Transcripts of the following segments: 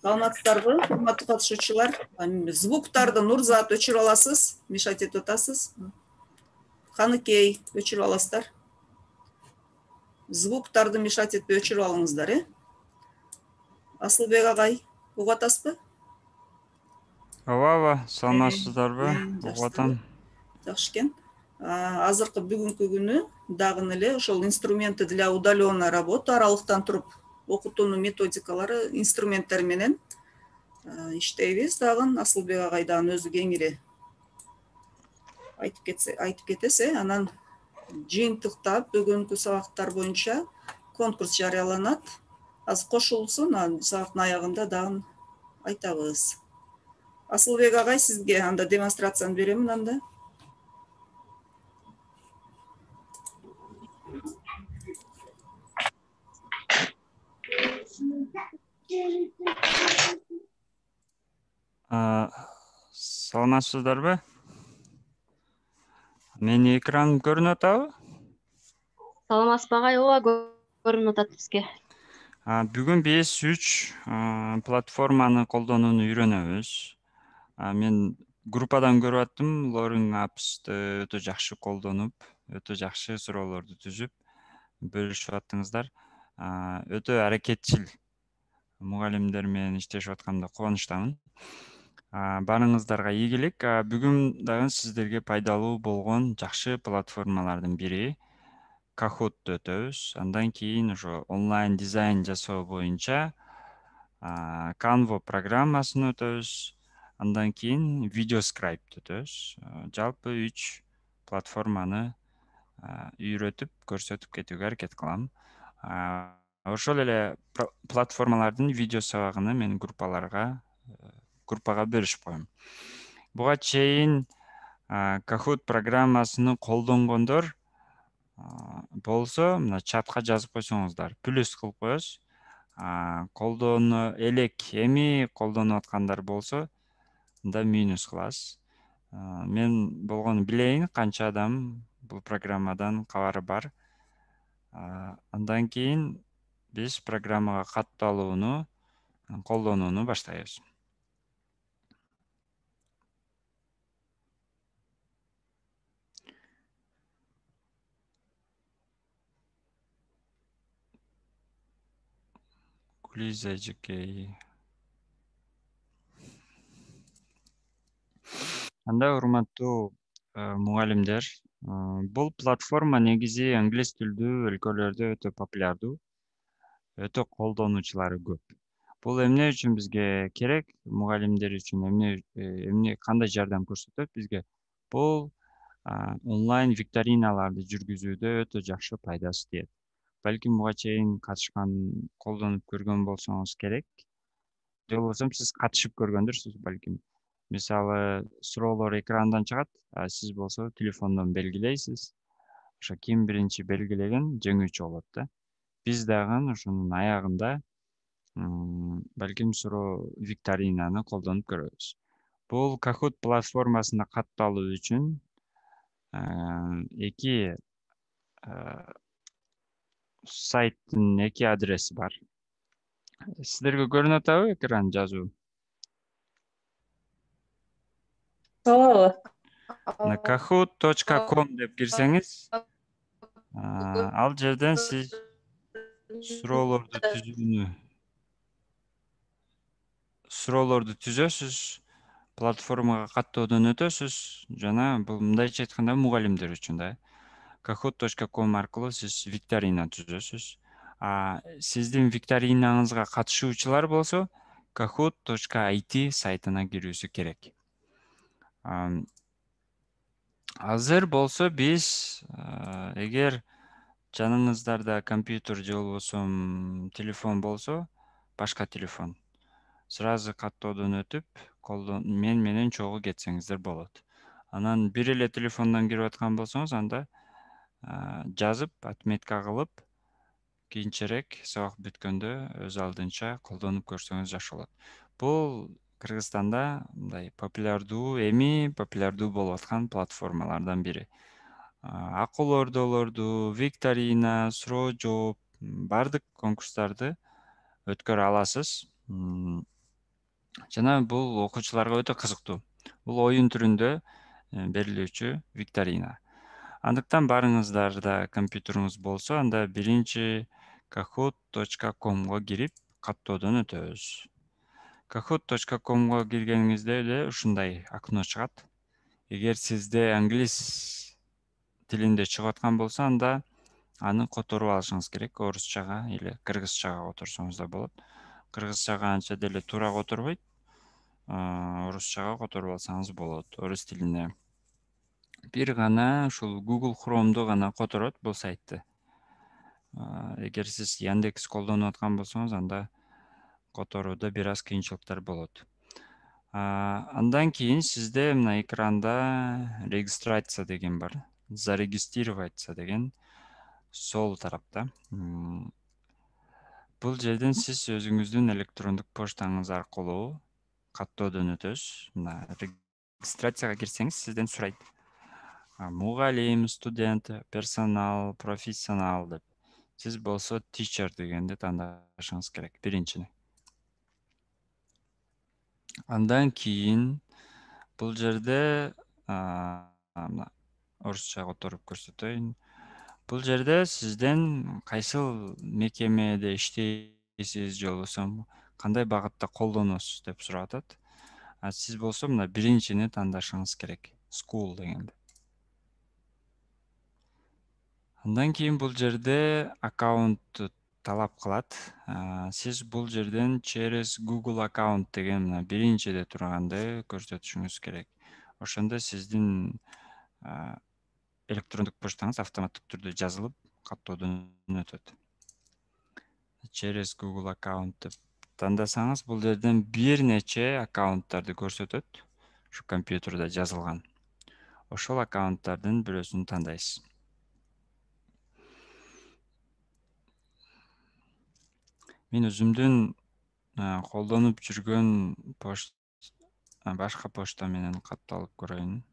Саламатсыздарбы, урматтуу катышуучулар? Звуктарды Нурзат өчүрүп аласыз, мешать этип атасыз. Каныкей өчүрүп аласыздар. Звуктарды мешать этпей өчүрүп алыңыздар, Асылбек агай, угуп атасызбы? Ооба, саламатсыздарбы? Угуп атам. Жакшы экен. Азыркы бүгүнкү күнү дагы эле ошол инструменты для удаленной работы, аралыктан туруп окутуунун методикалары, инструменттери менен иштейбиз. Дагы Асылбек агай дагы өзү кеңири айтып кетесе, анан жыйынтыктап бүгүнкү сабактар боюнча конкурс жарыяланат. Азыр кошулсун, сабактын аягында дагы айтабыз. Асылбек агай, сизге анда демонстрацияны беремин анда. Саламатсыздарбы? Менин экраным көрүнүп атабы? Саламатсызбы агай? Ооба, көрүнүп атат бизге. Бүгүн биз 3 платформаны колдонууну үйрөнөбүз. Мен группадан көрүп аттым, Learning Apps'ты өтө жакшы колдонуп, өтө жакшы суроолорду түзүп бөлүшүп аттыңыздар. Өтө аракетчил мугалимдер менен иштешип атканда кубанычтамын. Барыңыздарга ийгилик. Бүгүн дагы сиздерге пайдалуу болгон жакшы платформалардын бири Kahoot'ты өтөбүз. Андан кийин ошо онлайн дизайн жасоо боюнча Canva программасын өтөбүз. Андан кийин VideoScribe'ты өтөбүз. Жалпы 3 платформаны үйрөтүп, көрсөтүп кетүүгө аракет кылам. Ошол эле платформалардын видео сабагын мен группага бөлүшүп коем. Буга чейин Kahoot программасын колдонгондор болсо, мына чатка жазып койсоңуздар, плюс кылып коебуз. Эми колдонуп аткандар болсо, анда минус кыласыз. Мен болгону билейин, канча адам бул программадан кабары бар. Андан кийин биз программага катталууну, колдонууну баштайбыз. Гулиза эжекей. Анда урматтуу мугалимдер, бул платформа негизи англис тилдүү өлкөлөрдө өтө популярдуу, өтө колдонуучулары көп. Бул эмне үчүн бизге керек? Мугалимдер үчүн эмне кандай жардам көрсөтөт бизге? Бул онлайн викториналарды жүргүзүүдө өтө жакшы пайдасы тиет. Балким буга чейин катышкан, колдонуп көргөн болсоңуз керек. Же болбосо сиз катышып көргөндүрсүз балким. Мисалы, суроолор экрандан чыгат, сиз болсо телефондон белгилейсиз. Ошо ким биринчи белгилеген жеңүүчү болот да. Биз дагы ошонун аягында балким суроо викторинаны колдонуп көрөбүз. Бул Kahoot платформасына катталуу үчүн 2 сайттын 2 адреси бар. Сиздерге көрүнүп атабы экран жазуу? Ооба. Kahoot.com деп кирсеңиз, ал жерден сиз суроолорду түзөсүз, платформага каттоодон өтөсүз жана бул мындайча айтканда мугалимдер үчүн да. Kahoot.com аркылуу сиз викторина түзөсүз. Сиздин викторинаңызга катышуучулар болсо Kahoot.it сайтына кирүүсү керек. Азыр болсо биз эгер жаныңыздарда компьютер же болбосо телефон болсо, башка телефон, сразу каттоодон өтүп, мен менен чогуу кетсеңиздер болот. Анан бир эле телефондон кирип аткан болсоңуз, анда жазып, отметка кылып, кийинчерээк сабак бүткөндө өз алдынча колдонуп көрсөңүз жакшы болот. Бул Кыргызстанда мындай популярдуу болуп аткан платформалардан бири. Акыл ордолорду, викторина, суроо жооп, бардык конкурстарды өткөрө аласыз. Жана бул окуучуларга өтө кызыктуу. Бул оюн түрүндө берилүүчү викторина. Андыктан барыңыздарда компьютериңиз болсо, анда биринчи kahoot.com'го кирип каттоодон өтөбүз. kahoot.com'го киргениңизде эле ушундай окно чыгат. Эгер сизде англис тилинде чыгып аткан болсо, анда аны которуп алышыңыз керек. Орусчага или кыргызчага которсоңуз да болот. Кыргызчага анча деле туура которбойт. Орусчага которуп алсаңыз болот, орус тилине. Бир гана ушул Google Chrome'ду гана которот бул сайтты. Эгер сиз Яндекс колдонуп аткан болсоңуз, анда которууда бир аз кыйынчылыктар болот. Андан кийин сизде мына экранда регистрация деген бар. Зарегистрироваться деген сол тарапта. Бул жерден сиз өзүңүздүн электрондук поштаңыз аркылуу каттоодон өтөсүз. Мына регистрацияга кирсеңиз сизден сурайт. Мугалим, студент, персонал, профессионал деп. Сиз болсо teacher дегенди тандашыңыз керек биринчини. Андан кийин бул жерде орусча которуп көрсөтөйүн. Бул жерде сизден кайсыл мекемеде иштейсиз, же болбосо кандай багытта колдоносуз деп сурап атат. Сиз болсо мына биринчини тандашыңыз керек. School дегенди. Андан кийин бул жерде аккаунтту талап кылат. Сиз бул жерден через Google аккаунт деген мына биринчиде турганды көрсөтүшүңүз керек. Ошондо сиздин электрондук поштаңыз автоматтык түрдө жазылып, каттоодон өтөт. Через Google аккаунт деп тандасаңыз, бул жерден бир нече аккаунттарды көрсөтөт. Ушу компьютерде жазылган. Ошол аккаунттардын бирөөсүн тандайсыз. Мен өзүмдүн колдонуп жүргөн башка почта менен катталып көрөйүн.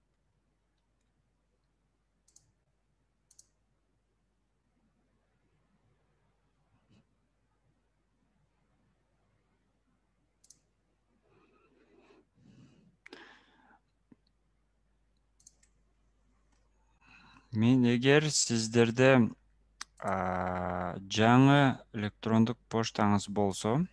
Мен эгер сиздерде жаңы электрондук поштаңыз болсо,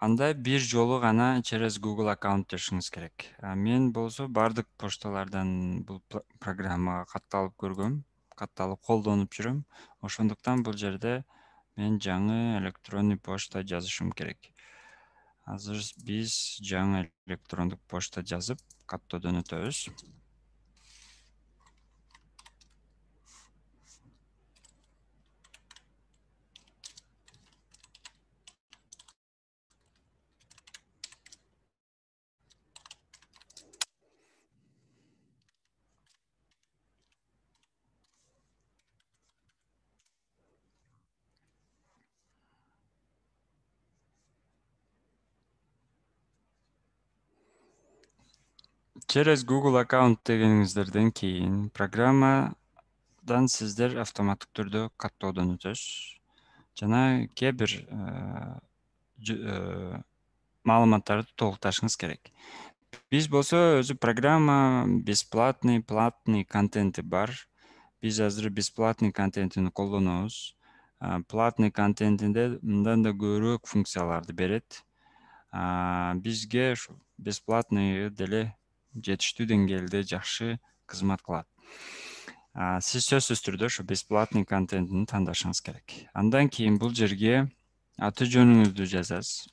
анда бир жолу гана через Google аккаунт жашыңыз керек. Мен болсо бардык пошталардан бул программага катталып көргөм, катталып колдонуп жүрөм. Ошондуктан бул жерде мен жаңы электронный почта жазышым керек. Азыр биз жаңы электрондук почта жазып, каттоодон өтөбүз. Через Google аккаунт дегениңиздерден кийин программадан сиздер автоматтык түрдө каттоодон өтөсүз. Жана кээ бир маалыматтарды толукташыңыз керек. Биз болсо өзү программа бесплатный, платный контенти бар. Биз азыр бесплатный контентин колдонобуз. Платный контентинде мындан да көбүрөөк функцияларды берет. Бизге ушу бесплатный деле жетиштүү деңгээлде жакшы кызмат кылат. Сиз сөзсүз түрдө ушу бесплатный контентин тандашыңыз керек. Андан кийин бул жерге аты жөнүңүздү жазасыз.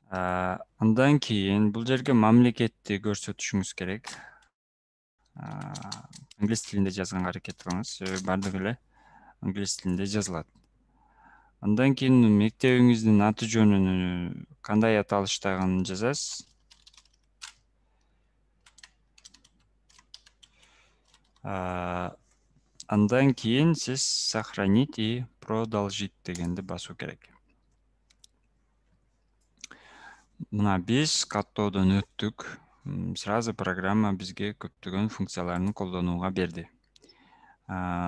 Андан кийин бул жерге мамлекетти көрсөтүшүңүз керек. Англис тилинде жазганга аракет кылыңыз. Бардыгы эле англис тилинде жазылат. Андан кийин мектебиңиздин аты жөнүн кандай аталыштагын жазасыз. Андан кийин сиз сохранить и продолжить дегенди басуу керек. Мына биз каттоодон өттүк. Сразу программа бизге көптөгөн функцияларын колдонууга берди.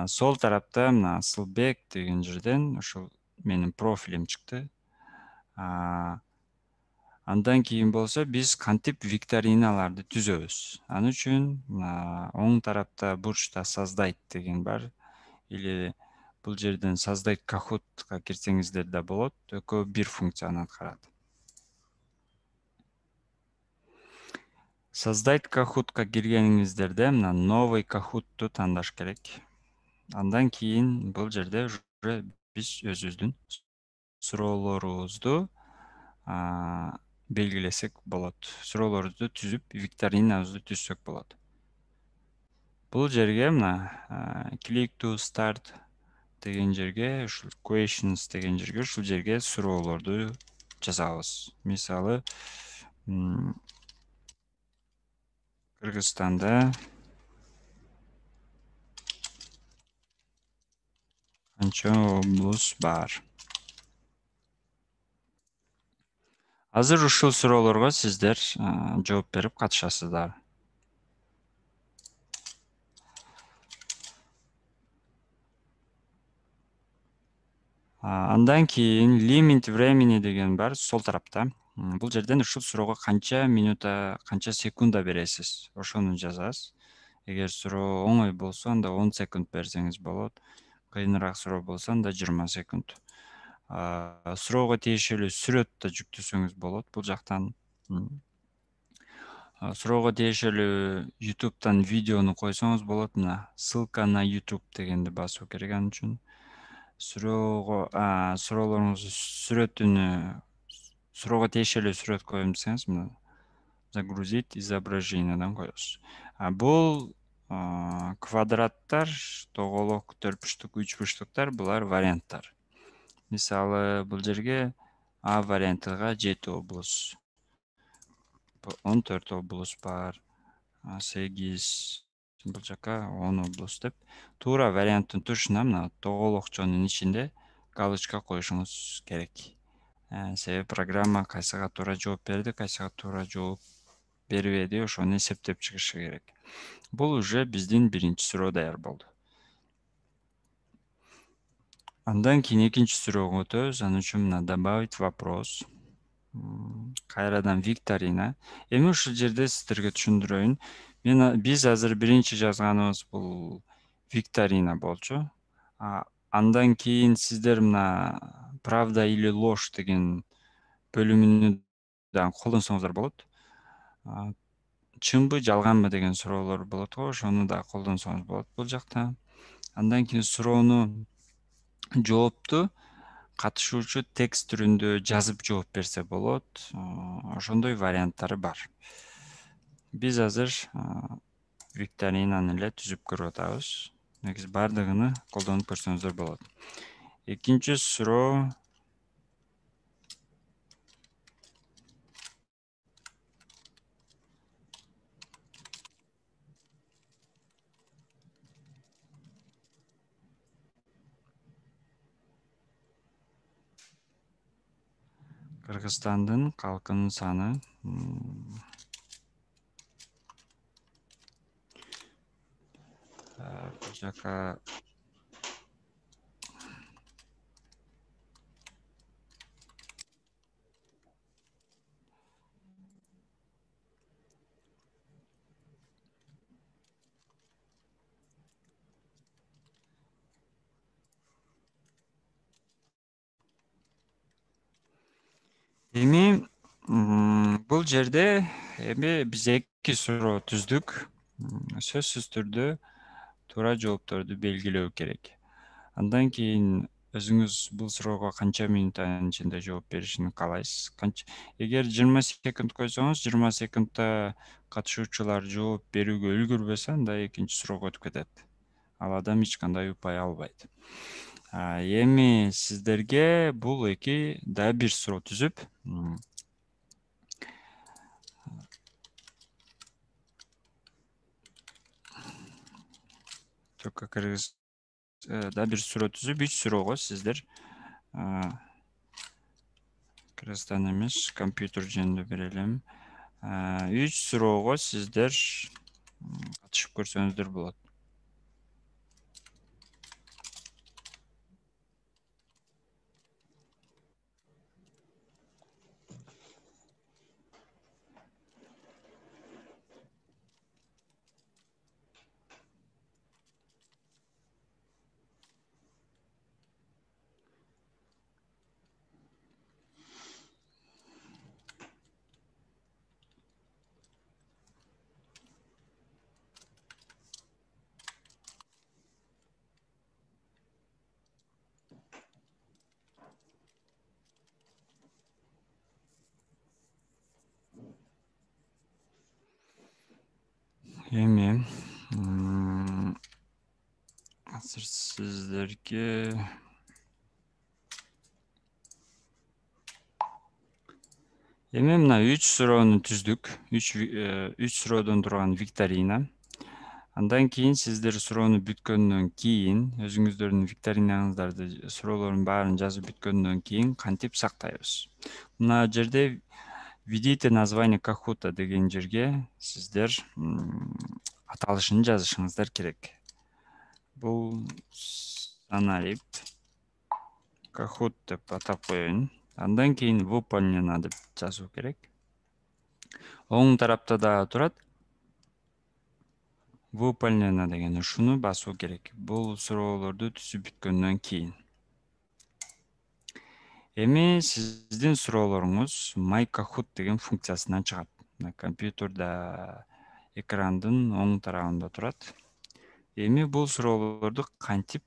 Сол тарапта мына Асылбек деген жерден ушул менин профилим чыкты. Андан кийин болсо биз кантип викториналарды түзөбүз. Ал үчүн оң тарапта бурчта создать деген бар. Или бул жерден создать кахутка кирсеңиздер да болот. Экөө бир функцияны аткарат. Создать кахутка киргениңиздерде мына новый кахутту тандаш керек. Андан кийин бул жерде уже биз өзүбүздүн суроолорубузду белгилесек болот. Суроолорубузду түзүп, викторинабызды түзсөк болот. Бул жерге мына click to start деген жерге, ушул questions деген жерге, ушул жерге суроолорду жазабыз. Мисалы, Кыргызстанда канча облус бар? Азыр ушул суроолорго сиздер жооп берип катышасыздар. Андан кийин limit времени деген бар сол тарапта. Бул жерден ушул суроого канча минута, канча секунда бересиз, ошону жазасыз. Эгер суроо оңой болсо, анда 10 секунд берсеңиз болот. Кыйыныраак суроо болсо, анда 20 секунд. Суроого тиешелүү сүрөт да жүктөсөңүз болот бул жактан. Суроого тиешелүү YouTube'дан видеону койсоңуз болот. Мына ссылка на YouTube дегенди басуу керек ал үчүн. Суроолоруңуздун суроого тиешелүү сүрөт коем десеңиз, мына загрузить изображениедан коесуз. Бул квадраттар, тоголок, төртбурчтук, үчбурчтуктар булар варианттар. Мисалы, бул жерге А вариантыга 7 облус, 14 облус бар, 8, бул жака 10 облус деп туура варианттын тушуна мына тоголокчонун ичинде галочка коюшуңуз керек. Себеби программа кайсыга туура жооп берди, кайсыга туура жооп бербеди, ошону эсептеп чыгышы керек. Бул уже биздин биринчи суроо даяр болду. Андан кийин экинчи суроого өтөбүз. Ал үчүн мына добавить вопрос. Кайрадан викторина. Эми ушул жерде сиздерге түшүндүрөйүн. Биз азыр биринчи жазганыбыз бул викторина болчу. Андан кийин сиздер мына правда или ложь деген бөлүмүнү да колдонсоңуздар болот. Чынбы, жалганбы деген суроолор болот го, ошону да колдонсоңуз болот бул жакта. Андан кийин суроону жоопту катышуучу текст түрүндө жазып жооп берсе болот. Ошондой варианттары бар. Биз азыр викторинаны эле түзүп көрүп атабыз. Негизи бардыгын колдонуп көрсөңүздөр болот. Экинчи суроо Кыргызстандын калкынын саны бул жака эми бул жерде биз эки суроо түздүк. Сөзсүз түрдө туура жоопторду белгилөө керек. Андан кийин өзүңүз бул суроого канча минуттан ичинде жооп беришин каалайсыз. Эгер 20 секунд койсоңуз, 20 секундта катышуучулар жооп берүүгө үлгүрбөсө, анда экинчи суроого өтүп кетет. Ал адам эч кандай упай албайт. Эми сиздерге бул эки да бир суроо түзүп, только кыргыз да бир суроо түзүп, 3 суроого сиздер Кыргызстан эмес, компьютер жөнүндө берелим. 3 суроого сиздер катышып көрсөңүздөр болот. Эми азыр сиздерге мына 3 суроону түздүк. 3 суроодон турган викторина. Андан кийин сиздер суроону бүткөндөн кийин, өзүңүздөрдүн викторинаңыздарды, суроолордун баарын жазып бүткөндөн кийин кантип сактайбыз? Мына жерде введите название Кахута деген жерге сиздер аталышын жазышыңыздар керек. Бул аналип Кахут деп атап коеюн. Андан кийин выполнено деп жазуу керек. Оң тарапта да турат. Выполнено деген ушуну басуу керек. Бул суроолорду түзүп бүткөндөн кийин. Эми сиздин суроолоруңуз My Kahoot деген функциясынан чыгат. Компьютерда экрандын оң тарабында турат. Эми бул суроолорду кантип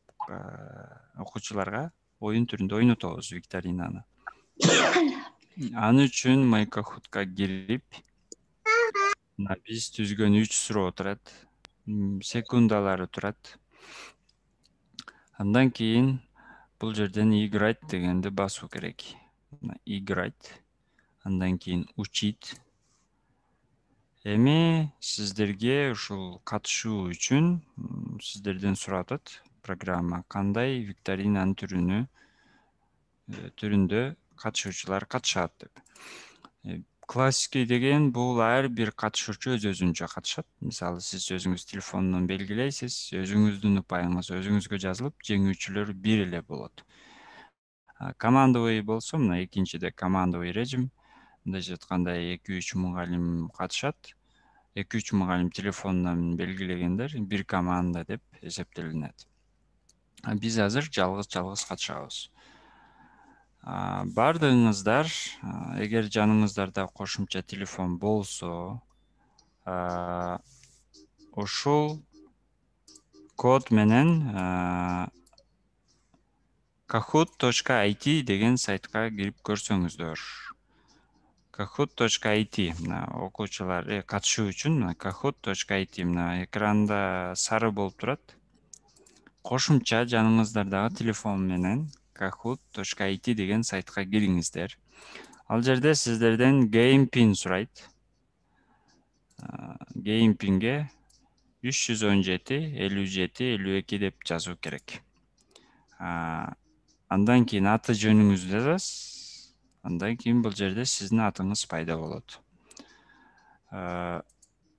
окуучуларга оюн түрүндө ойнотобуз викторинаны? Аны үчүн My Kahoot'ка кирип, биз түзгөн 3 суроо турат. Секундалары турат. Андан кийин бул жерден играть дегенди басуу керек. Играть. Андан кийин учить. Эми сиздерге ушул катышуу үчүн сиздерден сурап атат программа кандай викторинанын түрүндө катышуучулар катышат деп. Классикий деген бул ар бир катышуучу өз-өзүнчө катышат. Мисалы, сиз өзүңүз телефондон белгилейсиз, өзүңүздүн упайыңыз өзүңүзгө жазылып, жеңүүчүлөр бир эле болот. Командовый болсо, мына экинчиде командовый режим, мындайча айтканда 2-3 мугалим катышат. 2-3 мугалим телефондон белгилегендер бир команда деп эсептелинет. Биз азыр жалгыз катышабыз. Бардыгыңыздар, эгер жаныңыздарда кошумча телефон болсо, ушул код менен kahoot.it деген сайтка кирип көрсөңүздөр. Kahoot.it окуучулар катышуу үчүн kahoot.it экранда сары болуп турат. Кошумча жаныңыздардагы телефон менен kahoot.it деген сайтка кириңиздер. Ал жерде сиздерден game pin сурайт. Game pinге 317 57 52 деп жазуу керек. Андан кийин аты жөнүңүздү жазасыз. Андан кийин бул жерде сиздин атыңыз пайда болот.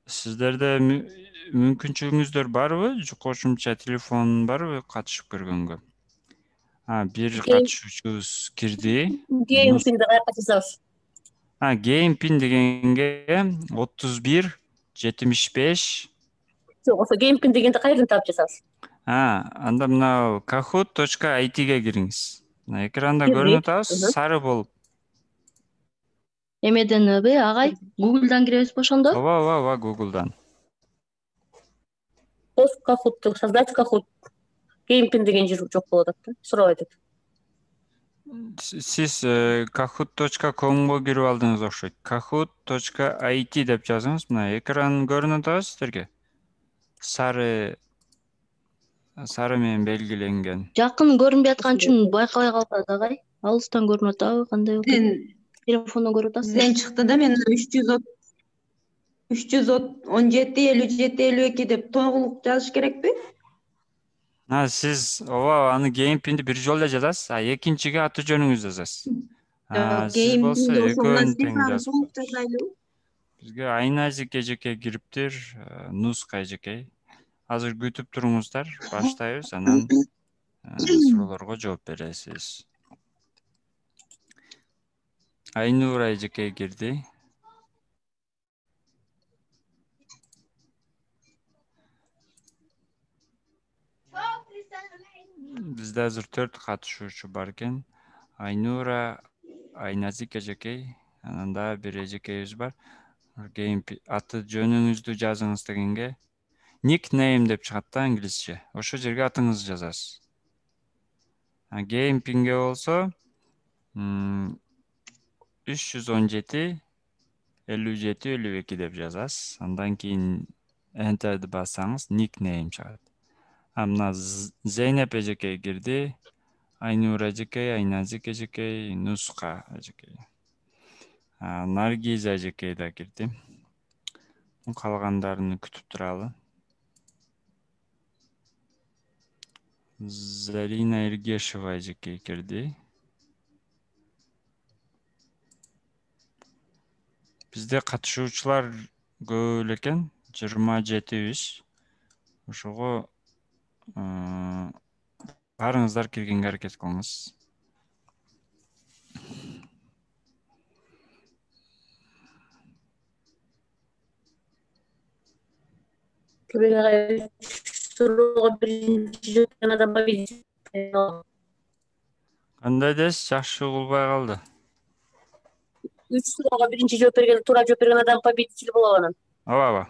Сиздерде мүмкүнчүлүгүңүздөр барбы? Кошумча телефон барбы катышып көргөнгө? Бир катышуучубуз кирди. Game pinди каяка жазабыз? Game pin дегенге 31 75. Жок, ошо game pin дегенди кайерден таап жазабыз? Анда мына kahoot.it'ге кириңиз. Экранда Кирдик. көрүнүп атабыз, сары болуп. Эмеденби агай? Google'дан киребизби ошондо? Ооба, Google'дан. Пост Kahoot, создать Kahoot. Game pin деген жер жок болуп атат да. Сурап айтат. Сиз kahoot.comго кирип алдыңыз окшойт. kahoot.it деп жазыңыз. Мына экран көрүнүп атабы сиздерге? Сары менен белгиленген. Жакын көрүнбөй аткан үчүн байкабай калат агай. Алыстан көрүнүп атабы, кандай болот? Телефондон көрүп атасыз? Сизден чыкты да, мен 317 57 52 деп тоголук жазыш керекпи? Сиз аны game pinди бир жолу эле жазасыз, экинчиге аты жөнүңүздү жазасыз. Сиз болсо экөөнү тең жазып. Бизге Айназик эжеке кириптир, Нуска эжеке. Азыр күтүп туруңуздар, баштайбыз, анан суроолорго жооп бересиз. Айнура эжеке кирди. Бизде азыр 4 катышуучу бар экен. Айнура, Айназик эжекей, анан да бир эжекейибиз бар. Аты жөнүңүздү жазыңыз дегенге nickname деп чыгат да англисче. Ошол жерге атыңызды жазасыз. Game pinге болсо 317 57 52 деп жазасыз. Андан кийин Enter'ди бассаңыз никнейм чыгат. Мына Зейнеп эжекей кирди. Айнур эжекей, Айназик эжекей, Нуска эжекей. Наргиз эжекей да кирди. Калгандарын күтүп туралы. Зарина Эргешева эжекей кирди. Бизде катышуучулар көп эле экен, 27биз. Ошого барыңыздар киргенге аракет кылыңыз. Суроо биринчи жооп адам победитель. Кандай десиз? Жакшы угулбай калды. 3 суроого биринчи жооп берген, туура жооп берген адам победитель болот анан. Ооба.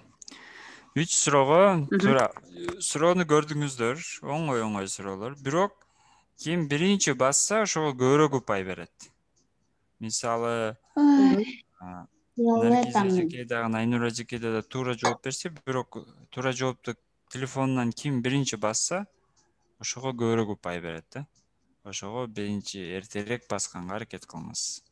3 суроого туура. Суроону көрдүңүздөр, оңой суроолор. Бирок ким биринчи басса, ошого көбүрөөк упай берет. Мисалы, Наргиз эжекей дагы, Айнур эжекей да туура жооп берсе, бирок туура жоопту телефонунан ким биринчи басса, ошого көбүрөөк упай берет да. Ошого биринчи эртерээк басканга аракет кылыңыз.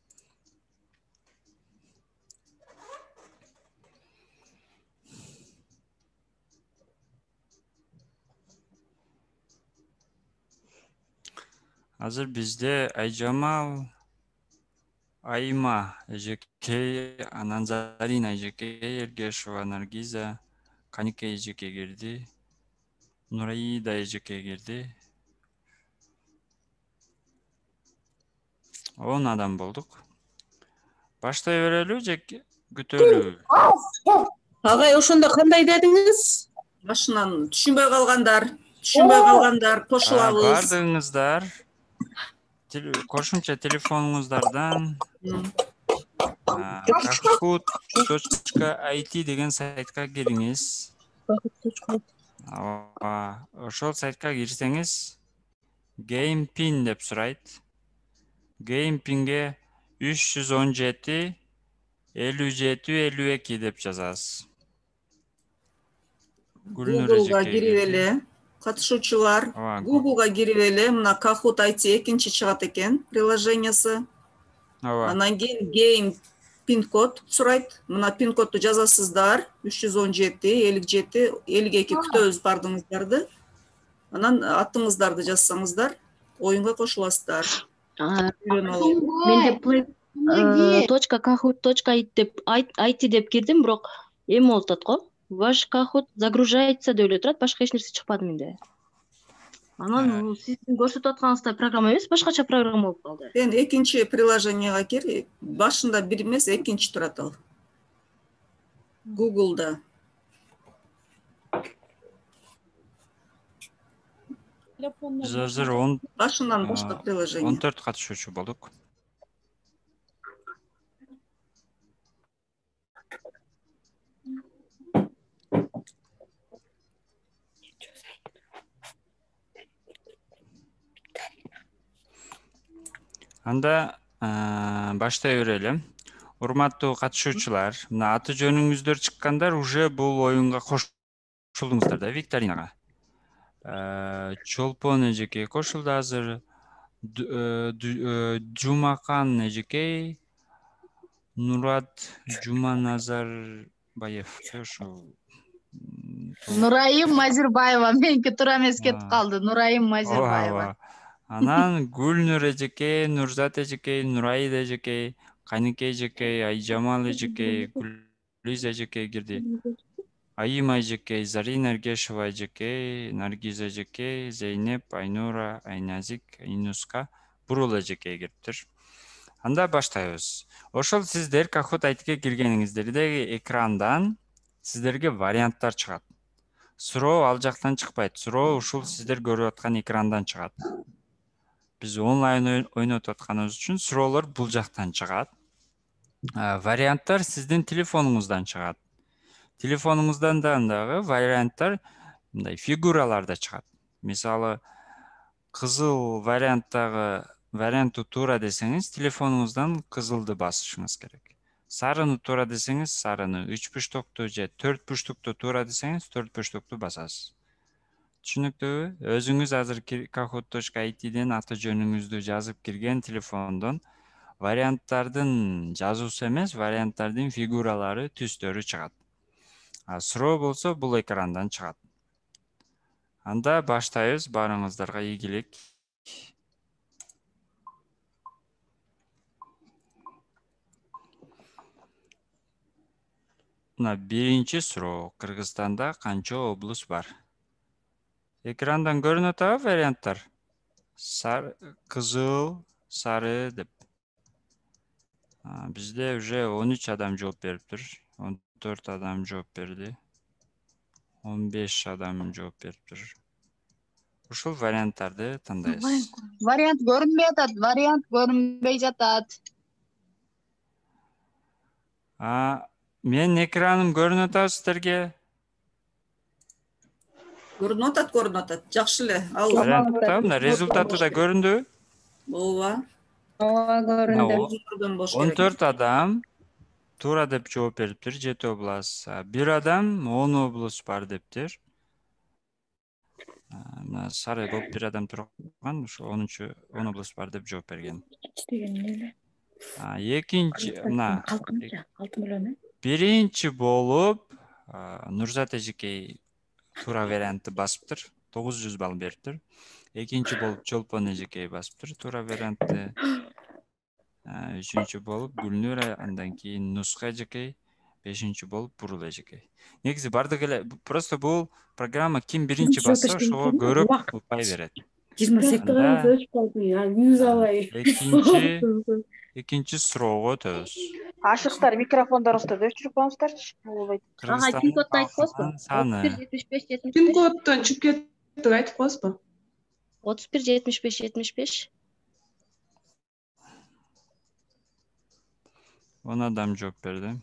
Азыр бизде Айжамал, Айма эжекей, анан Зарина эжекей, Эргешева, Наргиза, Каникей эжекей кирди. Нураида эжекей кирди. 10 адам болдук. Баштай берелүү же күтөлүү? Агай, ошондо кандай дедиңиз? Башынан түшүнбөй калгандар кошулабыз. Бардыгыңыздар кошумча телефонуңуздардан kahoot.it деген сайтка кириңиз. Ошол сайтка кирсеңиз, GamePin деп сурайт. GamePinге 317 57 52 деп жазасыз. Google'га кирип эле, катышуучулар Google'га кирип эле, мына Kahoot.it экинчи чыгат экен приложениясы. Анан кийин Game пин код сурайт. Мына пин кодду жазасыздар. 317 57 52 күтөбүз бардыгыңыздарды. Анан атыңыздарды жазсаңыздар, оюнга кошуласыздар. Менде play.kahoot.it деп кирдим, бирок эми болуп атат го. Ваш Kahoot загружается деп эле турат, башка эч нерсе чыкпады менде. Анан сиздин көрсөтүп атканыңыздай программа эмес, башкача программа болуп калды. Сен экинчи приложенияга кир, башында бир эмес, экинчи турат ал. Google'да. Биз азыр башынан баштап приложение. 14 катышуучу болдук. Анда баштай берели. Урматтуу катышуучулар, мына аты жөнүңүздөр чыккандар уже бул оюнга кошулуңуздар да, викторинага. Чолпон эжекей кошулду азыр. Жумакан эжекей, Нурат Жуманазарбаев. Ошо Нурайым Мазирбаева, меники туура эмес кетип калды. Нурайым Мазирбаева. Анан Гүлнур эжекей, Нурзат эжекей, Нурайда эжекей, Каникей эжекей, Айжамал эжекей, Гүлиз эжекей кирди. Айыма эжекей, Зарина Эргешева эжекей, Наргиз эжекей, Зейнеп, Айнура, Айназик, Инуска, Бурул эжекей кириптир. Анда баштайбыз. Ошол сиздер Kahoot.it'ке киргениңиздерде экрандан сиздерге варианттар чыгат. Суроо ал жактан чыкпайт. Суроо ушул сиздер көрүп аткан экрандан чыгат. Биз онлайн ойнотуп атканыбыз үчүн суроолор бул жактан чыгат. Варианттар сиздин телефонуңуздан чыгат. Телефонуңуздан дагы варианттар мындай фигураларда чыгат. Мисалы, кызыл варианттагы вариантты туура десеңиз, телефонуңуздан кызылды басышыңыз керек. Сарыны туура десеңиз сарыны, 3 буштукту же 4 буштукту туура десеңиз 4 буштукту басасыз. Түшүнүктүүбү? Өзүңүз азыр kahoot.it'ден аты жөнүңүздү жазып кирген телефондон варианттардын жазуусу эмес, варианттардын фигуралары, түстөрү чыгат. Суроо болсо бул экрандан чыгат. Анда баштайбыз, баарыңыздарга ийгилик. Мына биринчи суроо. Кыргызстанда канча облус бар? Экрандан көрүнүп атабы варианттар? Кызыл, сары деп. Бизде уже 13 адам жооп бериптир. 14 адам жооп берди. 15 адам жооп бериптир. Ушул варианттарды тандайсыз. Вариант көрүнбөй атат, вариант көрүнбөй жатат. Менин экраным көрүнүп атабы сиздерге? Көрүнүп атат. Жакшы эле. Ал Мына результаты да көрүндүбү? ооба. Ооба, көрүндү. 14 адам туура деп жооп бериптир, 7 облас. Бир адам 10 облус бар дептир. Мына сары болуп бир адам турган, ошо 10 облус бар деп жооп берген. Экинчи, мына биринчи болуп Нурзат эжекей туура вариантты басыптыр, 900 балл бериптир. Экинчи болуп Чолпон эжекей басыптыр, туура вариантты. Үчүнчү болуп Гүлнур, андан кийин Нуска эжекей, 5-нчи болуп Бурул эжекей. Негизи бардык эле просто бул программа ким биринчи басса ошого көрөк упай берет. 28 гана өчүп калдым, 100 алай. Экинчи суроого өтөбүз. Ашыктар, микрофондоруңузду өчүрүп коюңуздарчы. Болбойт. Пин-кодду айтып коесузбу? Саны 31 75 75. Пин-коддон чыгып кетти, айтып коесузбу? 31 75 75. 10 адам жооп берди.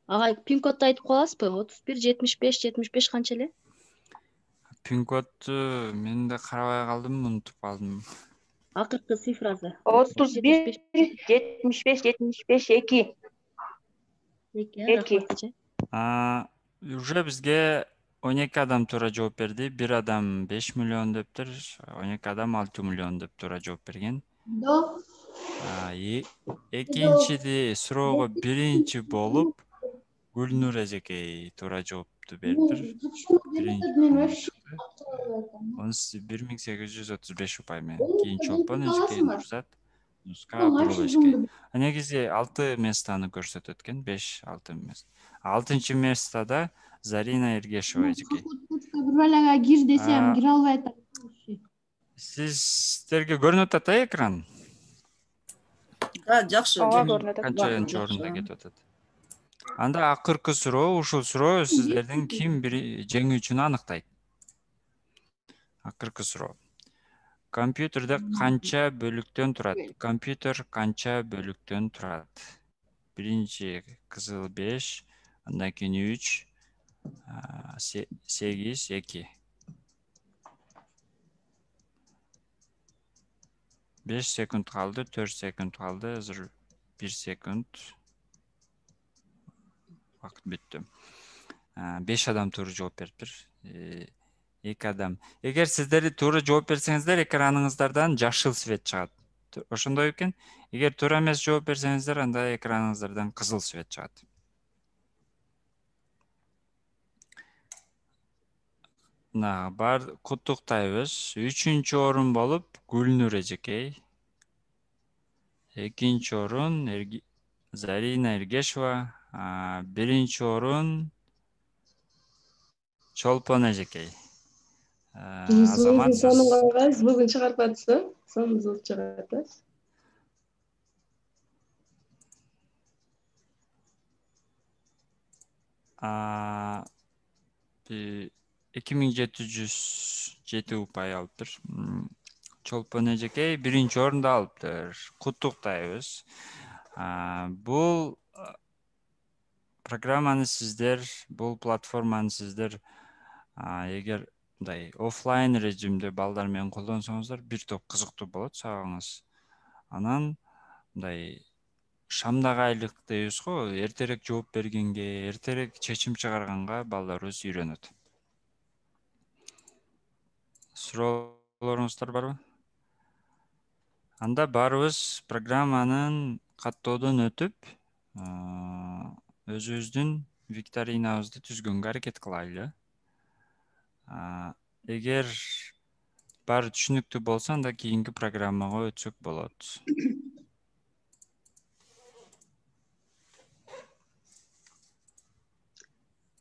Агай, пин-кодду айтып коесузбу? 31 75 75 канча эле? Пин-кодду мен да карабай калдым, унутуп калдым. Акыркы цифрасы. 31 75 75 2. 2. Уже бизге 12 адам туура жооп берди. Бир адам 5 миллион дептир, 12 адам 6 миллион деп туура жооп берген. Экинчиди суроого биринчи болуп Гүлнур эжекей туура жоопту бериптир. 1835 упай менен. Кийин Чолпон эжекей, Нурзат, Нуска, Бурул эжекей. Негизи 6 местаны көрсөтөт экен, 5-6 место. 6-нчы местада Зарина Эргешова эжекей. Бир балага кир десем, кире албай атат. Сиздерге көрүнүп атат экран? Жакшы. Канчанчы орунда кетип атат? Анда акыркы суроо, ушул суроо сиздердин ким жеңүүчүнү аныктайт. Акыркы суроо. Компьютерде канча бөлүктөн турат? Компьютер канча бөлүктөн турат? Биринчи кызыл 5, андан кийин 3, 8, 2. 5 секунд калды, 4 секунд калды, азыр 1 секунд. Вакыт бүттү. 5 адам туура жооп бериптир. 2 адам. Эгер сиздер туура жооп берсеңиздер, экраныңыздардан жашыл свет чыгат. Ошондой экен. Эгер туура эмес жооп берсеңиздер, анда экраныңыздардан кызыл свет чыгат. Бар куттуктайбыз. 3-чү орун болуп Гүлнур эжекей. 2-нчи орун Зарина Эргешова. 1-нчи орун Чолпон эжекей. Азамат сонун калган, звугун чыгарып атсаң, сонун звук чыгат. 2707 упай алыптыр. Чолпон эжекей 1-нчи орунду алыптыр. Куттуктайбыз. Бул программаны сиздер, бул платформаны сиздер эгер мындай офлайн режимде балдар менен колдонсоңуздар бир топ кызыктуу болот сабагыңыз. Анан мындай шамдагы айлык дейбиз го, эртерээк жооп бергенге, эртерээк чечим чыгарганга балдарыбыз үйрөнөт. Суроолоруңуздар барбы? Анда баарыбыз программанын каттоодон өтүп, өзүбүздүн викторинабызды түзгөнгө аракет кылайлы. Эгер баары түшүнүктүү болсо, анда кийинки программага өтсөк болот.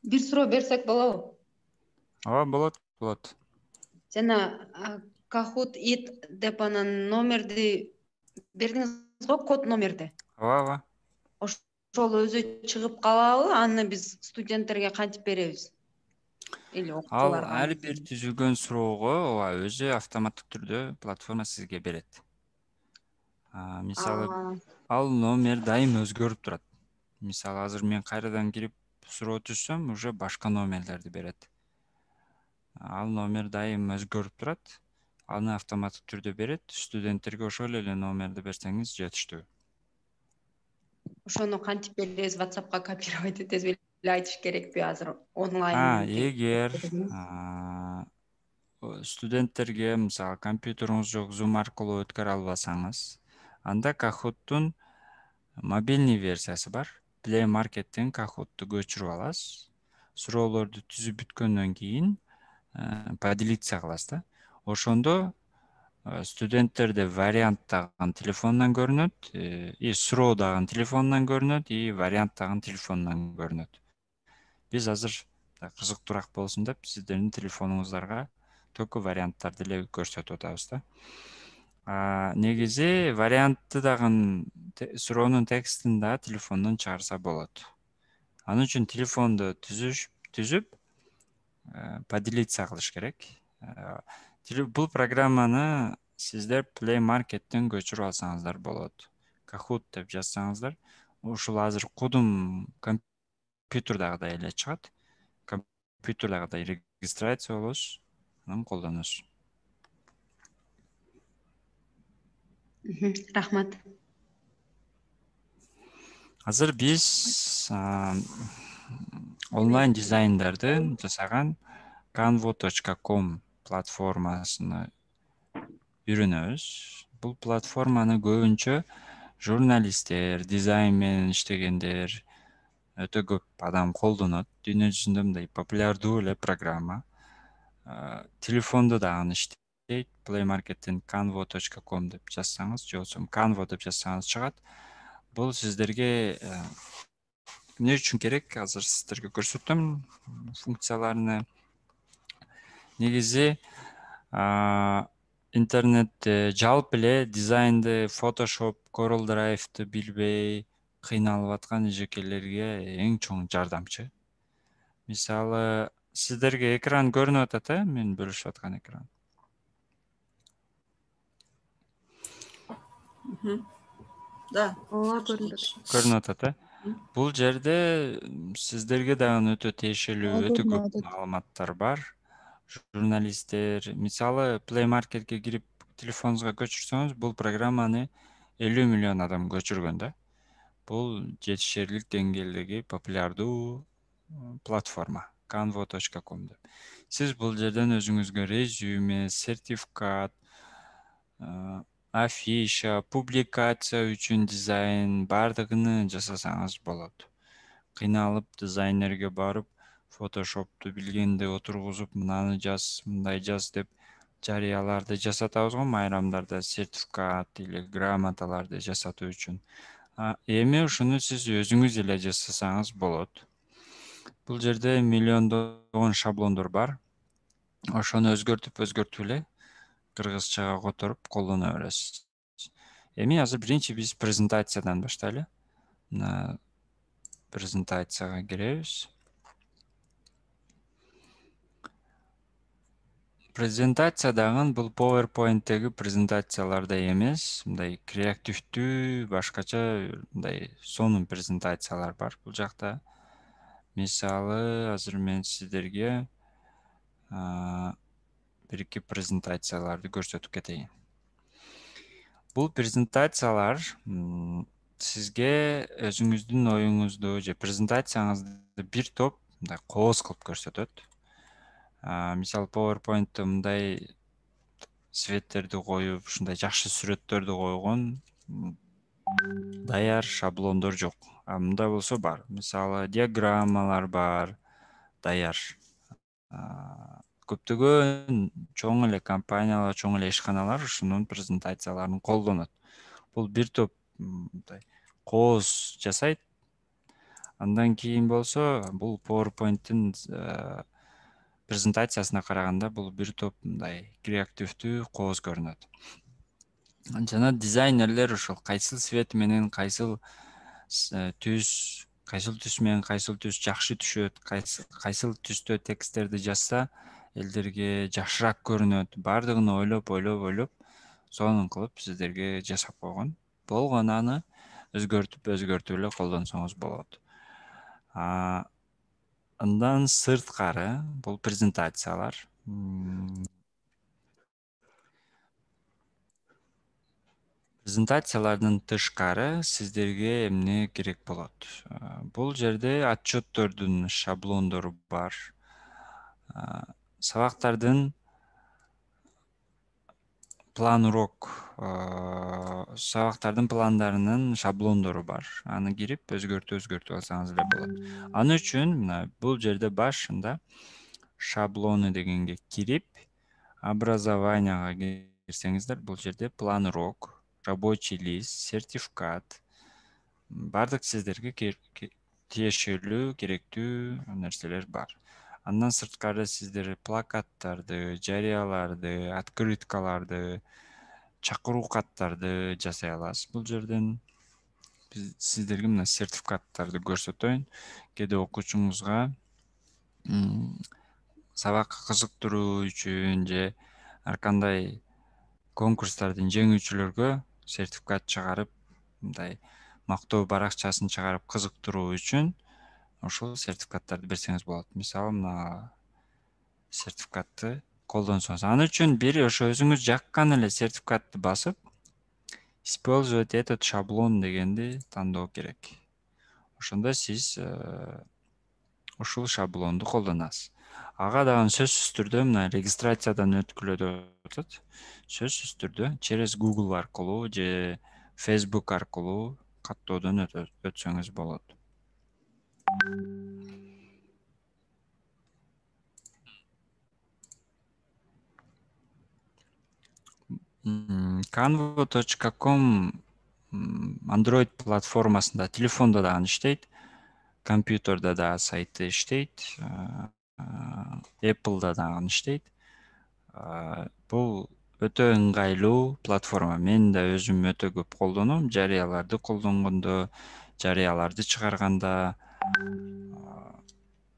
Бир суроо берсек болобу? Ооба, болот. Жана Kahoot it деп анан номерди бердиңиз го, код номерди. Ооба. Ошол өзү чыгып калабы? Аны биз студенттерге кантип беребиз? Или Ал окуучуларга? ар бир түзүлгөн суроого өзү автоматтык түрдө платформа сизге берет. Мисалы, ал номер дайым өзгөрүп турат. Мисалы, азыр мен кайрадан кирип суроо түзсөм, уже башка номерлерди берет. Ал номер дайым өзгөрүп турат. Аны автоматтык түрдө берет. Студенттерге ошол эле номерди берсеңиз жетиштүү. Ошону кантип беребиз? WhatsApp'ка копировать этесиз беле, айтыш керекпи азыр онлайн? Эгер студенттерге мисалы компьютериңиз жок, Zoom аркылуу өткөрө албасаңыз, анда Kahoot'тун мобильный версиясы бар. Play Market'тен Kahoot'ту көчүрүп аласыз. Суроолорду түзүп бүткөндөн кийин поделиться кыласыз да. Ошондо студенттерде вариант дагы телефонунан көрүнөт, суроо дагы телефонунан көрүнөт, вариант дагы телефонунан көрүнөт. Биз азыр кызыктуураак болсун деп сиздердин телефонуңуздарга только варианттарды эле көрсөтүп атабыз да. Негизи вариантты дагы суроонун текстин да телефондон чыгарса болот. Ал үчүн телефонду түзүп поделиться кылыш керек. Бул программаны сиздер Play Market'тен көчүрүп алсаңыздар болот. Kahoot деп жазсаңыздар, ушул азыр кодум компьютердагыдай эле чыгат. Компьютердагыдай регистрация болосуз, анан колдоносуз. Рахмат. Азыр биз онлайн дизайндарды жасаган canvo.com платформасыны үйрөнөбүз. Бул платформаны көбүнчө журналисттер, дизайн менен иштегендер өтө көп адам колдонот. Дүйнө жүзүндө мындай популярдуу эле программа. Телефондо дагы иштейт. Play Market'тен canvo.com деп жазсаңыз, же болбосо Canvo деп жазсаңыз чыгат. Бул сиздерге эмне үчүн керек? Азыр сиздерге көрсөтөм функцияларыны. Негизи интернетте жалпы эле дизайнды, Photoshop, Corel Drive'ты билбей кыйналып аткан эжекелерге эң чоң жардамчы. Мисалы, сиздерге экран көрүнүп атат, мен бөлүшүп аткан экран. Да. Ооба, көрүнүп атат. Көрүнүп атат. Бул жерде сиздерге дагы өтө тиешелүү, өтө көп маалыматтар бар. Журналисттер, мисалы, Play Market'ке кирип телефонуңузга көчүрсөңүз, бул программаны 50 миллион адам көчүргөн да. Бул жетишерлик деңгээлдеги популярдуу платформа canvo.com деп. Сиз бул жерден өзүңүзгө резюме, сертификат, афиша, публикация үчүн дизайн бардыгын жасасаңыз болот. Кыйналып дизайнерге барып, Photoshop'ту билгенде отургузуп, мынаны жаз, мындай жаз деп жарыяларды жасатабыз го, майрамдарда сертификат или грамоталарды жасатуу үчүн. Эми ушуну сиз өзүңүз эле жасасаңыз болот. Бул жерде миллиондогон шаблондор бар. Ошону өзгөртүп эле кыргызчага которуп колдоно бересиз. Эми азыр биринчи биз презентациядан баштайлы. Мына презентацияга киребиз. Презентация дагы бул PowerPoint'теги презентациялардай эмес, мындай креативдүү, башкача мындай сонун презентациялар бар бул жакта. Мисалы, азыр мен сиздерге бир-эки презентацияларды көрсөтүп кетейин. Бул презентациялар сизге өзүңүздүн оюңузду же презентацияңызды бир топ мындай кооз кылып көрсөтөт. Мисалы PowerPoint'те мындай светтерди коюп, ушундай жакшы сүрөттөрдү койгон даяр шаблондор жок. Мындай болсо бар. Мисалы диаграммалар бар, даяр. Көптөгөн чоң эле компаниялар, чоң эле ишканалар ушунун презентацияларын колдонот. Бул бир топ мындай кооз жасайт. Андан кийин болсо, бул PowerPoint'тин презентациясына караганда бул бир топ мындай креативдүү кооз көрүнөт. Жана дизайнерлер ошол кайсыл свет менен кайсыл түс менен кайсыл түс жакшы түшөт, кайсыл түстө тексттерди жазса элдерге жакшыраак көрүнөт. Бардыгын ойлоп, сонун кылып сиздерге жасап койгон. Болгону аны өзгөртүп эле колдонсоңуз болот. Андан сырткары бул презентациялар презентациялардын тышкары сиздерге эмне керек болот? Бул жерде отчеттордун шаблондору бар. Сабактардын сабактардын пландарынын шаблондору бар. Аны кирип өзгөртүп алсаңыз эле болот. Аны үчүн мына бул жерде башында шаблоны дегенге кирип, образованияга кирсеңиздер, бул жерде план урок, рабочий лист, сертификат, бардык сиздерге тиешелүү, керектүү нерселер бар. Андан сырткары сиздер плакаттарды, жарыяларды, открыткаларды, чакыруу каттарды жасай аласыз. Бул жерден сиздерге мына сертификаттарды көрсөтөйүн. Кээде окуучуңузга сабакка кызыктыруу үчүн же ар кандай конкурстардын жеңүүчүлөргө сертификат чыгарып, мындай мактоо баракчасын чыгарып кызыктыруу үчүн ошол сертификаттарды берсеңиз болот. Мисалы, мына сертификатты колдонсоңуз. Аны үчүн бир ошо өзүңүз жаккан эле сертификатты басып, использовать этот шаблон дегенди тандоо керек. Ошондо сиз ушул шаблонду колдонасыз. Ага дагы сөзсүз түрдө мына регистрациядан өткүлө деп атат. Сөзсүз түрдө через Google аркылуу же Facebook аркылуу каттоодон өтсөңүз болот. Canva.com Android платформасында, телефонда дагы иштейт, компьютерде дагы сайты иштейт, Apple'да дагы иштейт. Бул өтө ыңгайлуу платформа. Мен да өзүм өтө көп колдоном. Жарыяларды колдонгондо, жарыяларды чыгарганда,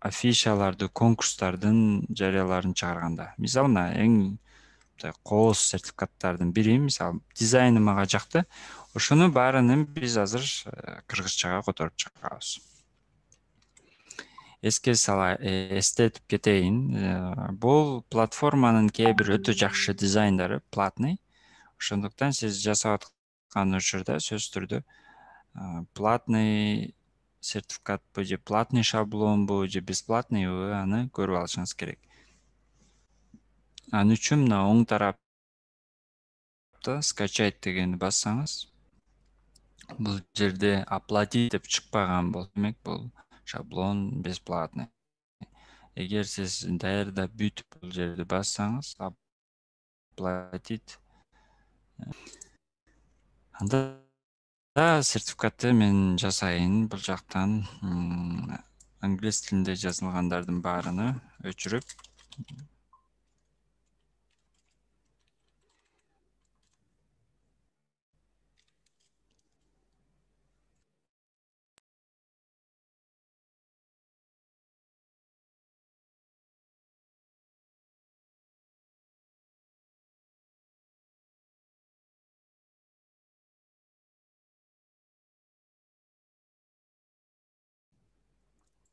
афишаларды, конкурстардын жарыяларын чыгарганда. Мисалы, мына эң кооз сертификаттардын бири, мисалы, дизайны мага жакты. Ошону баарынын биз азыр кыргызчага которуп чыгабыз. Эстетип кетейин. Бул платформанын кээ бир өтө жакшы дизайндары платный. Ошондуктан сиз жасап аткан учурда сөзсүз түрдө платный сертификатпы же платный шаблонбу же бесплатныйбы аны көрүп алышыңыз керек. Аны үчүн мына оң тарапта скачать дегенди бассаңыз, бул жерде оплатить деп чыкпаган болсо, демек бул шаблон бесплатный. Эгер сиз даярдап бүтүп бул жерди бассаңыз, оплатить, анда сертификатты мен жасайын. Бул жактан англис тилинде жазылгандардын баарыны өчүрүп,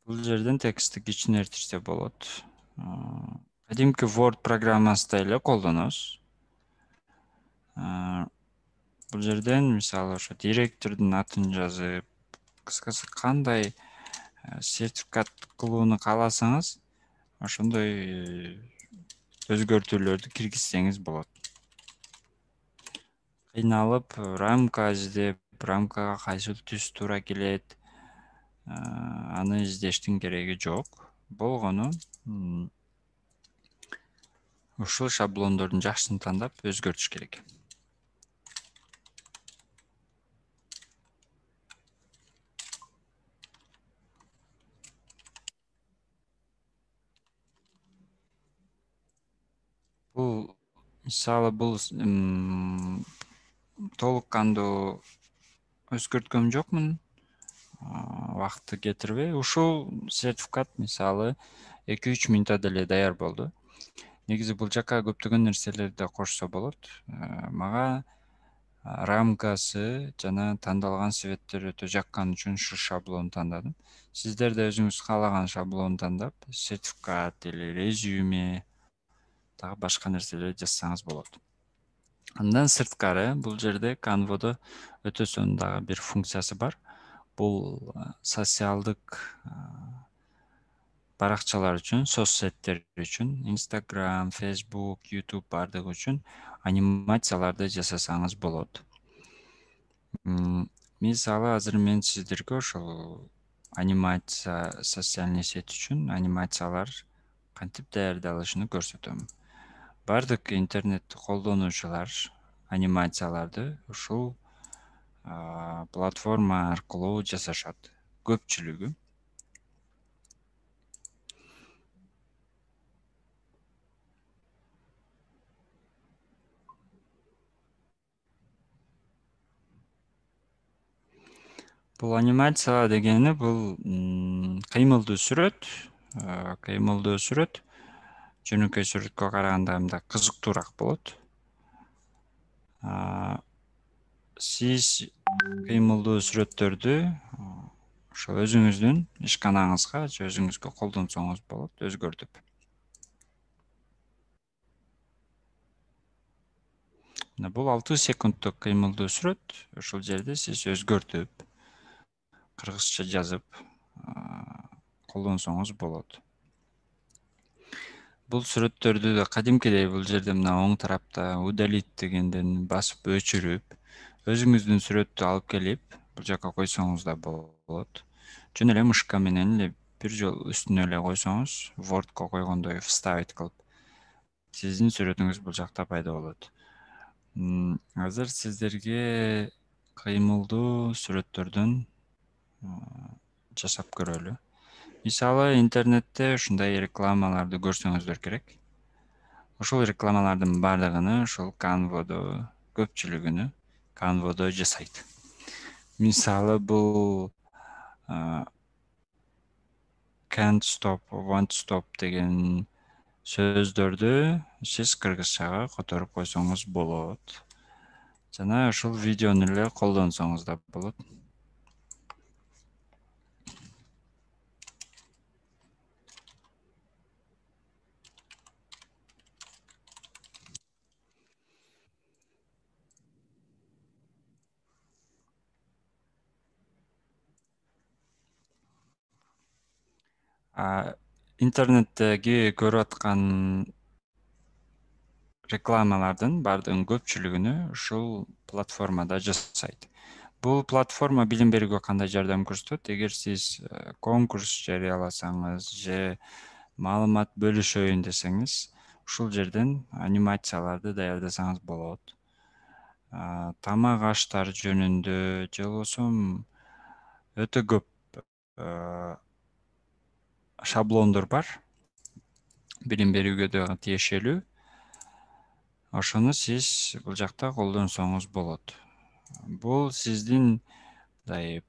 бул жерден текстти кичинертирсе болот. кадимки Word программасында эле колдоносуз. Бул жерден мисалы ошо директордун атын жазып, кыскасы кандай сертификат кылууну кааласаңыз, ошондой өзгөртүүлөрдү киргизсеңиз болот. Кыйналып рамка издеп, рамкага кайсыл түс туура келет, аны издештин кереги жок. Болгону ушул шаблондордун жакшысын тандап өзгөртүш керек. Бул мисалы бул толук кандуу өзгөрткөм жокмун. Убакытты кетирбей, ушул сертификат мисалы 2-3 минутта деле даяр болду. Негизи бул жака көптөгөн нерселерди кошсо болот. Мага рамкасы жана тандалган светтер өтө жаккан үчүн ушу шаблонду тандадым. Сиздер да өзүңүз каалаган шаблонду тандап, сертификат или резюме, дагы башка нерселерди жазсаңыз болот. Андан сырткары бул жерде Canva'да өтө сонун дагы бир функциясы бар. Бул социалдык баракчалар үчүн, соцсеттер үчүн, Instagram, Facebook, YouTube бардыгы үчүн анимацияларды жасасаңыз болот. Мисалы азыр мен сиздерге ошол анимация социальный сет үчүн анимациялар кантип даярдалышын көрсөтөм. Бардык интернет колдонуучулар анимацияларды ушул платформа аркылуу жасашат. Көпчүлүгү. Бул анимация дегени бул кыймылдуу сүрөт, жөнөкөй сүрөткө караганда мындай кызыктуураак болот. Сиз кыймылдуу сүрөттөрдү ошо өзүңүздүн ишканаңызга же өзүңүзгө колдонсоңуз болот, өзгөртүп. Бул 6 секундтук кыймылдуу сүрөт. Ошол жерде сиз өзгөртүп, кыргызча жазып колдонсоңуз болот. Бул сүрөттөрдү да кадимкидей бул жерде мына оң тарапта удалить дегенден басып өчүрүп, өзүңүздүн сүрөттү алып келип, бул жака койсоңуз да болот. Жөн эле мышка менен эле бир жолу үстүнө эле койсоңуз, Wordко койгондой вставить кылып, сиздин сүрөтүңүз бул жакта пайда болот. Азыр сиздерге кыймылдуу сүрөттөрдөн жасап көрөлү. Мисалы, интернетте ушундай рекламаларды көрсөңүздөр керек. Ошол рекламалардын бардыгын ушул Canva'да, көпчүлүгүнү Canva'да жасайт. Мисалы, бул can't stop, won't stop деген сөздөрдү сиз кыргызчага которуп койсоңуз болот. Жана ушул видеону эле колдонсоңуз да болот. Интернеттеги көрүп аткан рекламалардын бардыгынын көпчүлүгүнү ушул платформада жасайт. Бул платформа билим берүүгө кандай жардам көрсөтөт? Эгер сиз конкурс жарыяласаңыз же маалымат бөлүшөйүн десеңиз, ушул жерден анимацияларды даярдасаңыз болот. Тамак аштар жөнүндө же болбосо өтө көп шаблондор бар. Билим берүүгө да тиешелүү. Ошону сиз бул жакта колдонсоңуз болот. Бул сиздин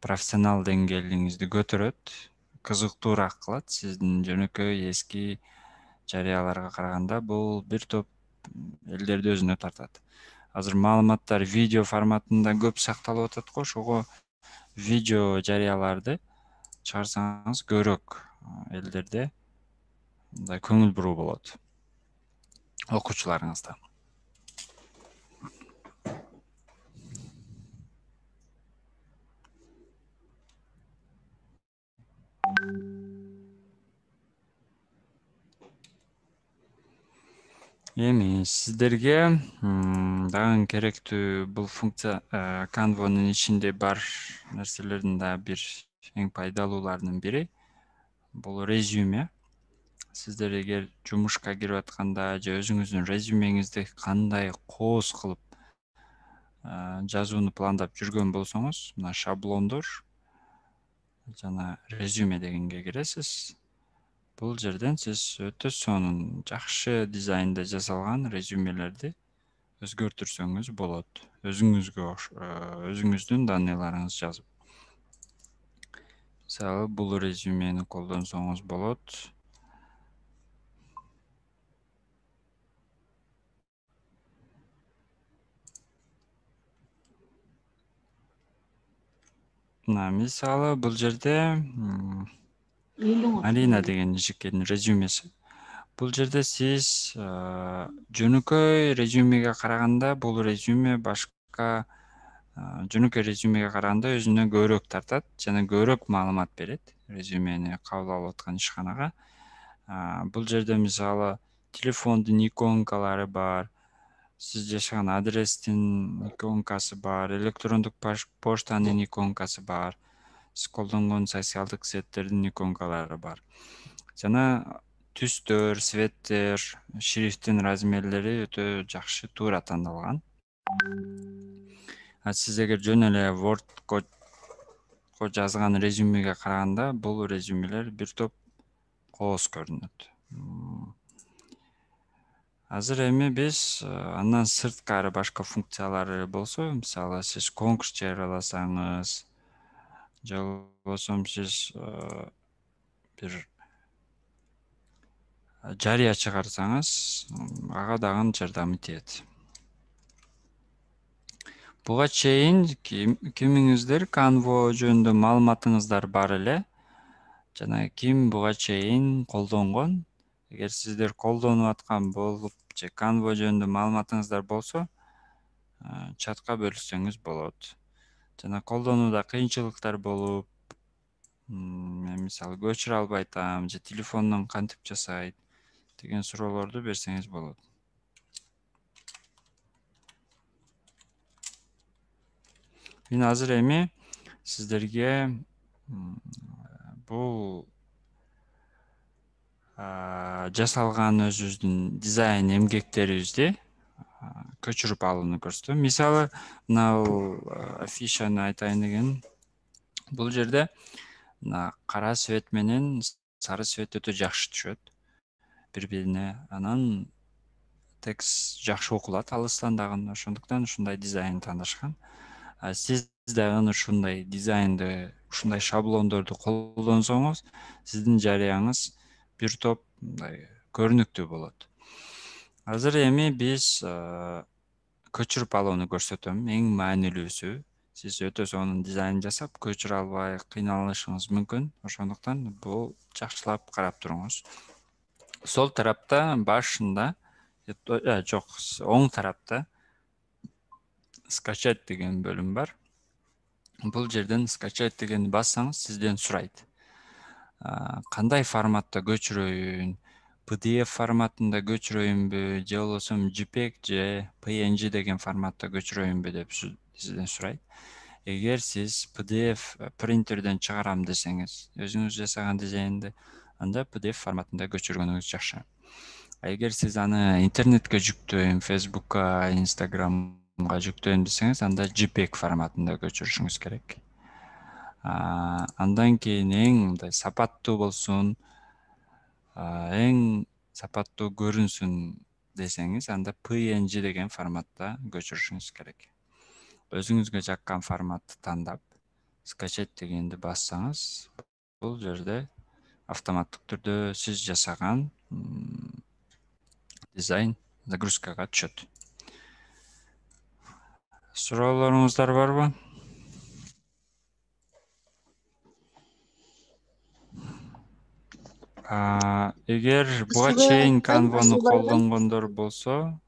профессионал деңгээлиңизди көтөрөт, кызыктуураак кылат. Сиздин жөнөкөй эски жарыяларга караганда бул бир топ элдерди өзүнө тартат. Азыр маалыматтар видео форматында көп сакталып атат го, ошого видео жарыяларды чыгарсаңыз көбүрөөк элдерде көңүл буруу болот. окуучуларыңызда. Эми сиздерге дагы керектүү бул функция Canva'нын ичинде бар нерселердин да бир эң пайдалууларынын бири бул резюме. Сиздер эгер жумушка кирип атканда же өзүңүздүн резюмеңизди кандай кооз кылып жазууну пландап жүргөн болсоңуз, мына шаблондор жана резюме дегенге киресиз. Бул жерден сиз өтө сонун, жакшы дизайнда жасалган резюмелерди өзгөртүрсөңүз болот. Өзүңүздүн данныйларыңызды жазып. Мисалы, бул резюмени колдонсоңуз болот. Мисалы, бул жерде Марина деген жигиттин резюмеси. Бул жерде сиз жөнөкөй резюмеге караганда бул резюме башка жөнөкөй резюмеге караганда өзүнө көбүрөөк тартат жана көбүрөөк маалымат берет резюмени кабыл алып аткан ишканага. Бул жерде мисалы телефондун иконкалары бар, сиз жашаган адрестин иконкасы бар, электрондук поштанын иконкасы бар, сиз колдонгон социалдык сеттердин иконкалары бар. Жана түстөр, цветтер, шрифттин размерлери өтө жакшы туура тандалган. Сиз эгер жөн эле Wordко жазган резюмеге караганда бул резюмелер бир топ кооз көрүнөт. Азыр эми биз андан сырткары башка функциялары болсо, мисалы сиз конкурс жарыяласаңыз, же болбосо сиз бир жарыя чыгарсаңыз, ага дагы жардамы тиет. Буга чейин кимиңиздер Canva жөнүндө маалыматыңыздар бар эле жана ким буга чейин колдонгон? Эгер сиздер колдонуп аткан болуп же Canva жөнүндө маалыматыңыздар болсо, чатка бөлүшсөңүз болот. Жана колдонууда кыйынчылыктар болуп, мисалы көчүрө албай атам же телефондон кантип жасайт деген суроолорду берсеңиз болот. Мен азыр эми сиздерге бул жасалган өзүбүздүн дизайн эмгектерибизди көчүрүп алууну көрсөтөм. Мисалы, мына афишаны айтайын деген. Бул жерде кара свет менен сары свет өтө жакшы түшөт бири-бирине. Анан текст жакшы окулат алыстан дагы, ошондуктан ушундай дизайн тандашкан. Сиз дагы ушундай дизайнды, ушундай шаблондорду колдонсоңуз, сиздин жарыяңыз бир топ көрүнүктүү болот. Азыр эми биз көчүрүп алууну көрсөтөм. Эң маанилүүсү, сиз өтө сонун дизайн жасап, көчүрө албай кыйналышыңыз мүмкүн. Ошондуктан бул жакшылап карап туруңуз. Сол тарапта башында, жок, оң тарапта скачать деген бөлүм бар. Бул жерден скачать дегенди бассаңыз, сизден сурайт. Кандай форматта көчүрөйүн, PDF форматында көчүрөйүнбү, же болбосо JPEG же PNG деген форматта көчүрөйүнбү деп сизден сурайт. Эгер сиз PDF принтерден чыгарам десеңиз, өзүңүз жасаган дизайнды, анда PDF форматында көчүргөнүңүз жакшы. Эгер сиз аны интернетке жүктөйм, Facebookка, Instagramга жүктөйм десеңиз, анда JPEG форматында көчүрүшүңүз керек. Андан кийин эң мындай сапаттуу болсун, эң сапаттуу көрүнсүн десеңиз, анда PNG деген форматта көчүрүшүңүз керек. Өзүңүзгө жаккан форматты тандап, скачать дегенди бассаңыз, бул жерде автоматтык түрдө сиз жасаган дизайн загрузкага түшөт. Суроолоруңуздар барбы? Эгер буга Асылбек чейин айгай, Canva'ны Асылбек айгай. колдонгондор болсо,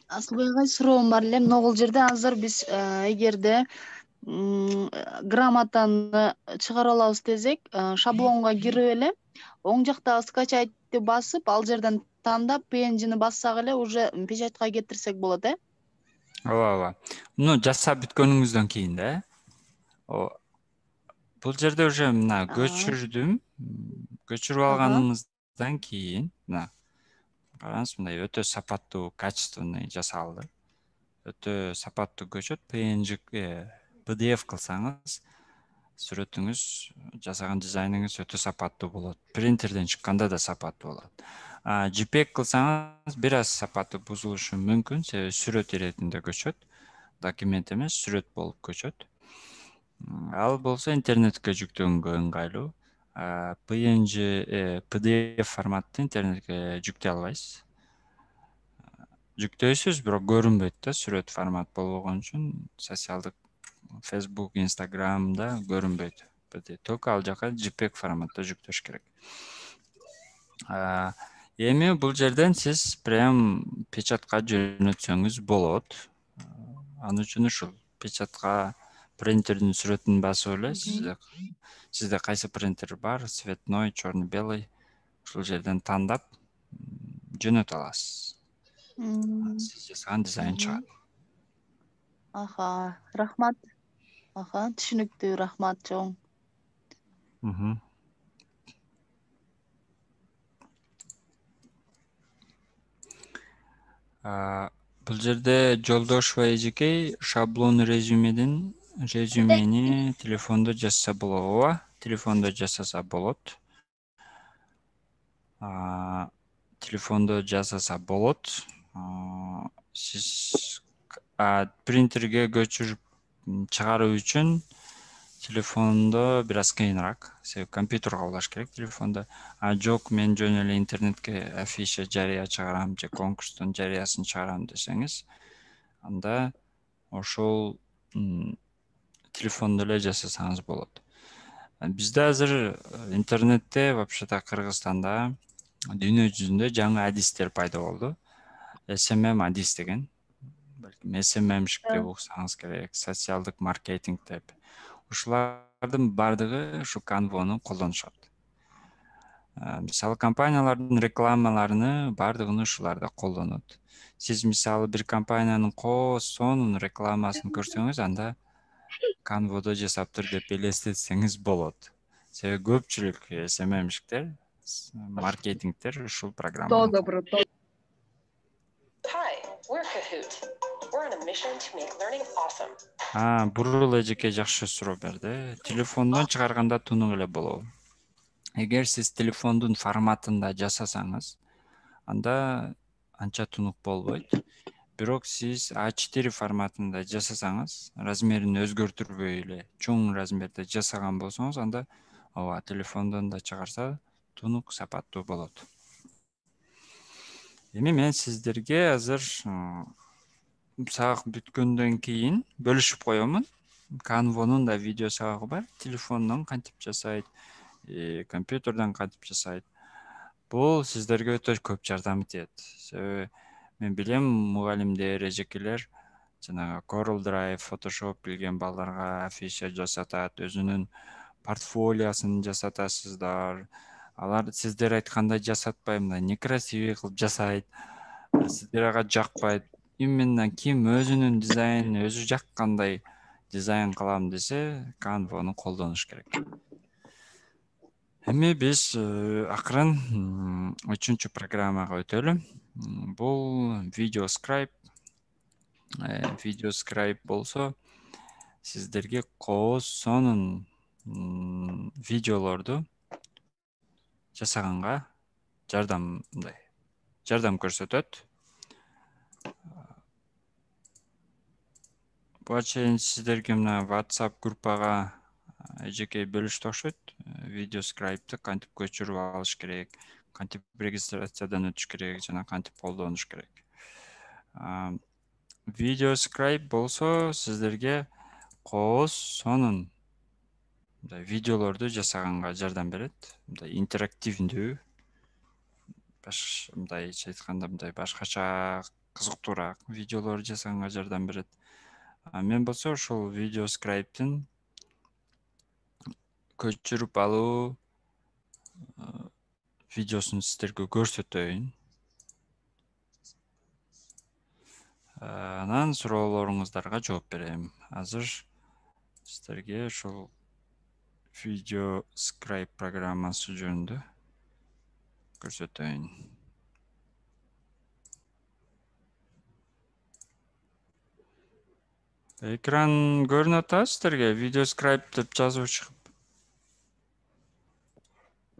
Асылбек агай, суроом бар эле. Мына бул жерде азыр биз эгерде грамотаны чыгара алабыз десек, шаблонго кирип эле оң жактагы скачайтты басып, ал жерден тандап PNG'ни бассак эле уже печатка кетирсек болот, ооба. Муну жасап бүткөнүңүздөн кийин да. Бул жерде уже мына көчүрдүм. Көчүрүп алганыңыздан кийин, мына караңыз, мындай өтө сапаттуу, качественный жасалды. Өтө сапаттуу көчөт, PNG PDF кылсаңыз, сүрөтүңүз, жасаган дизайныңыз өтө сапаттуу болот. Принтерден чыкканда да сапаттуу болот. JPEG кылсаңыз бир аз сапаты бузулушу мүмкүн, себеби сүрөт иретинде көчөт. Документ эмес, сүрөт болуп көчөт. Ал болсо интернетке жүктөгөнгө ыңгайлуу. PNG, PDF форматты интернетке жүктөй албайсыз. Жүктөйсүз, бирок көрүнбөйт да, сүрөт формат болгон үчүн социалдык Facebook, Instagramда көрүнбөйт. Только ал жака JPEG форматта жүктөш керек. Эми бул жерден сиз прям печатка жөнөтсөңүз болот. Аны үчүн ушул печатка принтердин сүрөтүн басып эле, сизде кайсы принтер бар, цветной, черно-белый, ушул жерден тандап жөнөтө аласыз. Сиз жасаган дизайн чыгат. Рахмат. Түшүнүктүү, рахмат чоң. Бул жерде Жолдошева эжекей шаблон резюмени телефондо жазса болот. Ооба, телефондо жасаса болот. Телефондо жасаса болот. Сиз принтерге көчүрүп чыгаруу үчүн телефондо бир аз кыйыныраак. Себеби компьютерге улаш керек телефондо. Жок, мен жөн эле интернетке афиша жарыя чыгарам же конкурстун жарыясын чыгарам десеңиз, анда ошол телефондо эле жасасаңыз болот. Бизде азыр интернетте, вообще-то Кыргызстанда дүйнө жүзүндө жаңы адистер пайда болду. SMM адис деген. Балким SMM-шик деп уксаңыз керек, социалдык маркетинг деп. Ушулардын бардыгы ушу Canva'ны колдонушат. Мисалы компаниялардын рекламаларыны бардыгын ушуларда колдонот. Сиз мисалы бир компаниянын сонун рекламасын көрсөңүз, анда Canva'да жасаптыр деп элестетсеңиз болот. Себеби көпчүлүк SMM-шиктер, маркетингтер ушул программаны. Добро. Hi, we're Kahoot. We're on a mission to make learning awesome. Бурул эжеке жакшы суроо берди. Телефондон чыгарганда тунук эле болобу? Эгер сиз телефондун форматында жасасаңыз, анда анча тунук болбойт. Бирок сиз A4 форматында жасасаңыз, размерин өзгөртүрбөй эле чоң размерде жасаган болсоңуз, анда ооба, телефондон да чыгарса тунук сапаттуу болот. Эми мен сиздерге азыр сабак бүткөндөн кийин бөлүшүп коёмун. Canva'нын да видео сабагы бар. Телефондон кантип жасайт, компьютерден кантип жасайт. Бул сиздерге өтө көп жардам этет. Себеби мен билем, мугалимдер, эжекелер жанагы Corel Drive, Photoshop билген балдарга афиша жасатат, өзүнүн портфолиосын жасатасыздар. Алар сиздер айткандай жасатпай, мындай некрасивый кылып жасайт. Сиздер ага жакпайт. Именно ким өзүнүн дизайнын өзү жаккандай дизайн кылам десе, Canva'ны колдонуш керек. Эми биз акырын 3-чү программага өтөлү. Бул VideoScribe. VideoScribe болсо, сиздерге сонун видеолорду жасаганга жардам көрсөтөт. Буга чейин сиздерге мына WhatsApp группага эжекей бөлүштү окшойт. VideoScribe'ты кантип көчүрүп алыш керек, кантип регистрациядан өтүш керек, жана кантип колдонуш керек. VideoScribe болсо, сиздерге сонун мындай видеолорду жасаганга жардам берет. Мындай интерактивдүү, мындайча айтканда мындай башкача кызыктуураак видеолор жасаганга жардам берет. Мен болсо ушул VideoScribe'тин көчүрүп алуу видеосун сиздерге көрсөтөйүн. Анан суроолоруңуздарга жооп берем. Азыр сиздерге ушул VideoScribe программасы жөнүндө көрсөтөйүн. Экран көрүнүп атабы сиздерге? VideoScribe деп жазып чыгып.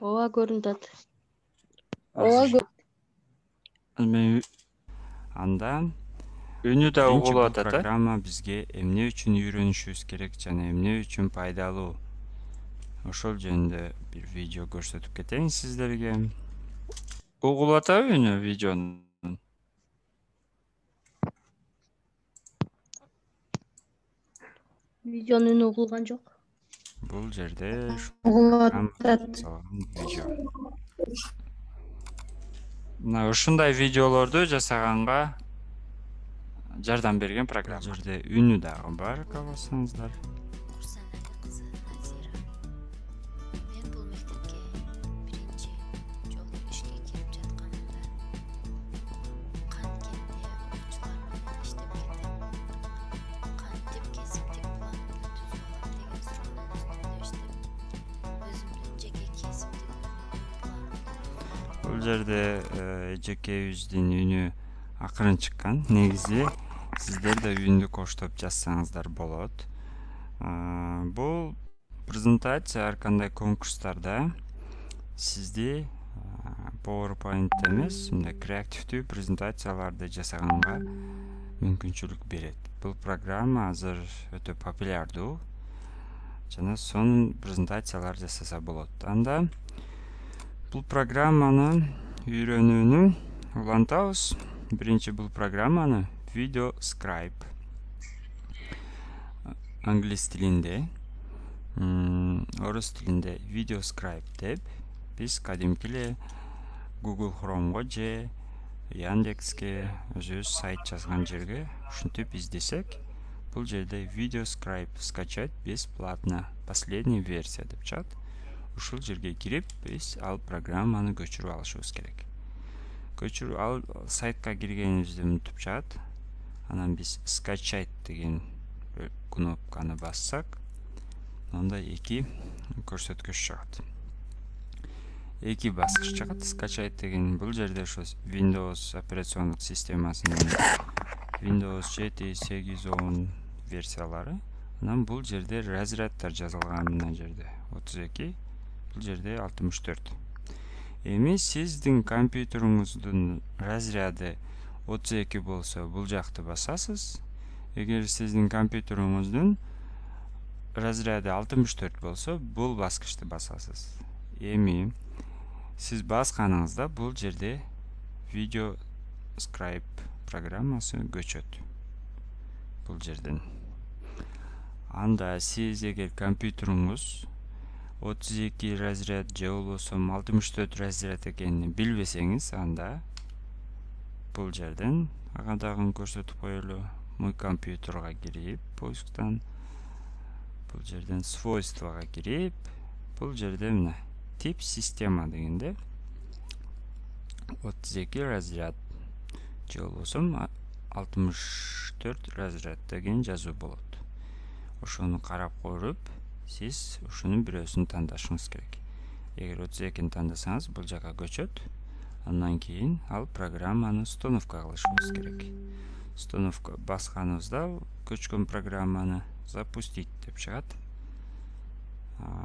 Ооба, көрүнүп атат. Анда үнү да угулуп атат. Программа бизге эмне үчүн үйрөнүшүбүз керек жана эмне үчүн пайдалуу. Ошол жөнүндө бир видео көрсөтүп кетейин сиздерге. Угулуп атабы үнү видеонун? Видеонун үнү угулган жок. Бул жерде Угулуп атат. видео. Мына ушундай видеолорду жасаганга жардам берген программа. Бул жерде үнү дагы бар, кааласаңыздар. Мен бул мектепке биринчи жолу ишке кирип жатканымда канткенде окуучулар менен иштеп келдим. Кантип кесиптик планымды түзүп алам деген суроонун үстүндө иштеп, өзүмдүн жеке кесиптик планымды. Бул жерде эжекебиздин үнү акырын чыккан. Негизи сиздер да үндү коштоп жазсаңыздар болот. Бул презентация ар кандай конкурстарда сизди PowerPoint эмес, мындай креативдүү презентацияларды жасаганга мүмкүнчүлүк берет. Бул программа азыр өтө популярдуу жана сонун презентациялар жасаса болот. Анда бул программаны үйрөнүүнү улантабыз. Биринчи бул программаны VideoScribe англис тилинде, орус тилинде VideoScribe деп биз кадимки эле Google Chrome'го же Яндекске өзүбүз сайт жазган жерге ушинтип издесек, бул жерде VideoScribe скачать бесплатно, последняя версия деп чыгат. Ушул жерге кирип, биз ал программаны көчүрүп алышыбыз керек. Көчүрүп ал сайтка киргенибизде мынтип чыгат. Анан биз скачать деген кнопканы бассак, анда эки көрсөткүч чыгат. Эки баскыч чыгат. Скачать деген бул жерде ошо Windows операциондук системасынын Windows 7, 8, 10 версиялары. Анан бул жерде разряддар жазылган, мына жерде 32, бул жерде 64. Эми сиздин компьютериңиздин разряды 32 болсо, бул жакты басасыз. Эгер сиздин компьютериңиздин разряды 64 болсо, бул баскычты басасыз. Эми сиз басканыңызда бул жерде VideoScribe программасы көчөт. Бул жерден. Анда сиз эгер компьютериңиз 32 разряд же болбосо 64 разряд экенин билбесеңиз, анда бул жерден ага дагы көрсөтүп коелу. Мой компьютерга кирип, поисктан бул жерден свойствага кирип, бул жерде мына тип система дегенде 32 разряд же болбосо 64 разряд деген жазуу болот. Ошону карап көрүп, сиз ушунун бирөөсүн тандашыңыз керек. Эгер 32-ни тандасаңыз, бул жака көчөт. Андан кийин ал программаны установка кылышыбыз керек. Установка басканыбызда көчкөн программаны запустить деп чыгат.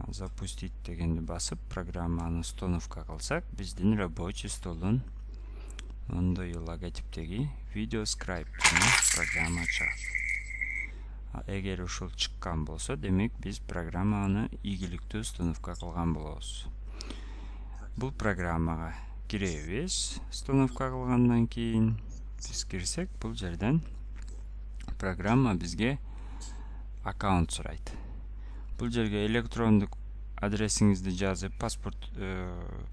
Запустить дегенди басып, программаны установка кылсак, биздин рабочий столдун мондой логотиптеги VideoScribe программа чыгат. Эгер ушул чыккан болсо, демек биз программаны ийгиликтүү установка кылган болобуз. Бул программага киребиз. Установка кылгандан кийин биз кирсек, бул жерден программа бизге аккаунт сурайт. Бул жерге электрондук адресиңизди жазып, паспорт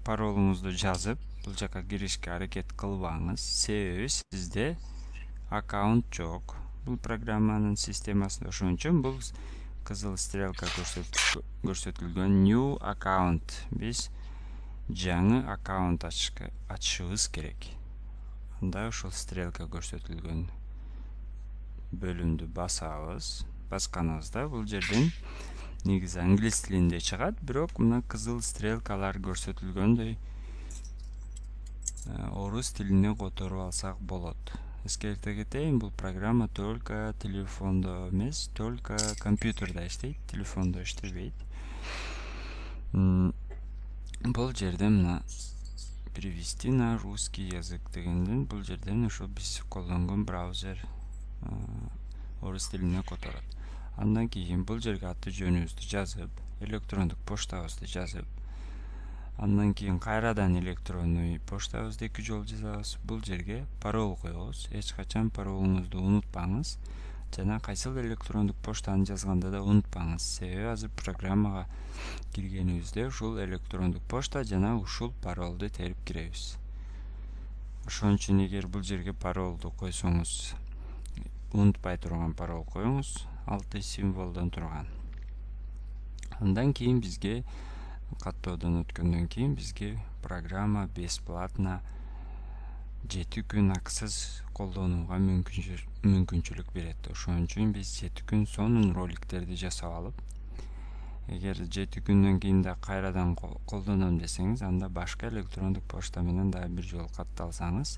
паролуңузду жазып, бул жака киришке аракет кылбаңыз. Себеби сизде аккаунт жок. Бул программанын системасында ошон үчүн бул кызыл стрелка көрсөтүлгөн new account. Биз жаңы аккаунт ачышыбыз керек. Анда ошол стрелка көрсөтүлгөн бөлүмдү басабыз. Басканыбызда бул жерден негизи англис тилинде чыгат, бирок мына кызыл стрелкалар көрсөтүлгөндөй орус тилине которуп алсак болот. Эскерте кетейин, бул программа только телефондо эмес, только компьютерде иштейт, телефондо иштебейт. Бул жерде мына перевести на русский язык дегенден бул жерден ошо биз колдонгон браузер орус тилине которот. Андан кийин бул жерге аты жөнүбүздү жазып, электрондук поштабызды жазып, андан кийин кайрадан электронный поштабызды 2 жолу жазабыз. Бул жерге парол коебуз. Эч качан паролуңузду унутпаңыз. Жана кайсыл электрондук поштаны жазганда да унутпаңыз. Себеби азыр программага киргенибизде ушул электрондук пошта жана ушул паролду терип киребиз. Ошон үчүн эгер бул жерге паролду койсоңуз, унутпай турган парол коюңуз, 6 символдон турган. Андан кийин бизге каттоодон өткөндөн кийин бизге программа бесплатно 7 күн акысыз колдонууга мүмкүнчүлүк берет. Ошон үчүн биз 7 күн сонун роликтерди жасап алып, эгер 7 күндөн кийин да кайрадан колдоном десеңиз, анда башка электрондук почта менен дагы бир жолу катталсаңыз,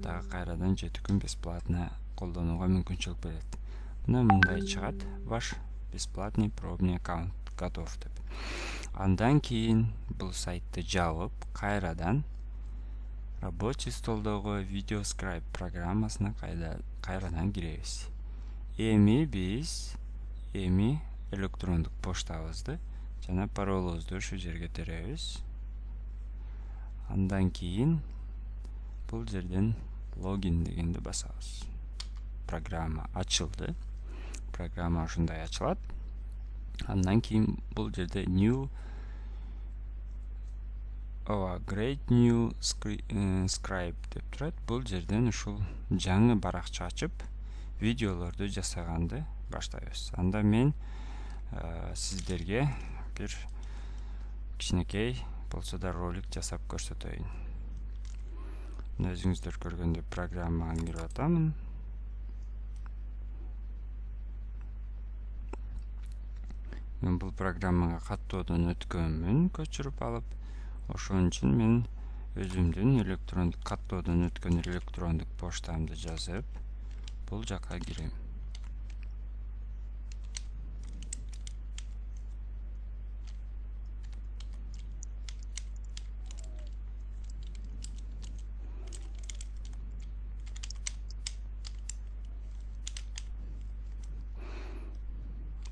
дагы кайрадан 7 күн бесплатно колдонууга мүмкүнчүлүк берет. Мына мындай чыгат: ваш бесплатный пробный аккаунт готов деп. Андан кийин бул сайтты жабып, кайрадан рабочий столдогу видеоскрайб программасына кайрадан киребиз. Эми биз электрондук поштабызды жана паролубузду ушу жерге теребиз. Андан кийин бул жерден логин дегенди басабыз. Программа ачылды. Программа ушундай ачылат. Андан кийин бул жерде new great new scribe деп турат. Бул жерден ушул жаңы баракча ачып, видеолорду жасаганды баштайбыз. Анда мен сиздерге бир кичинекей болсо да ролик жасап көрсөтөйүн. Өзүңүздөр көргөндөй программага кирип атамын. Мен бул программага каттоодон өткөнмүн, көчүрүп алып. Ошон үчүн мен өзүмдүн электрондук каттоодон өткөн электрондук поштамды жазып, бул жака кирем.